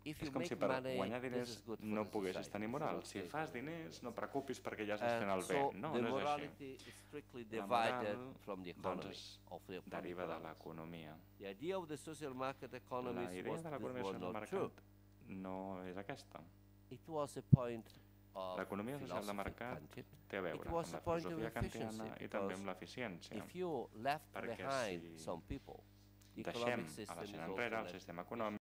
Speaker 4: És com si per guanyar diners no poguessis tenir moral. Si fas diners, no preocupis perquè ja estàs fent el bé. No, no és així. La moral, doncs, es deriva de l'economia. La idea de l'economia social de mercat no és aquesta. L'economia social de mercat té a veure amb la filosofia kantiana i també amb l'eficiència. Perquè si deixem a la gent enrere el sistema econòmic,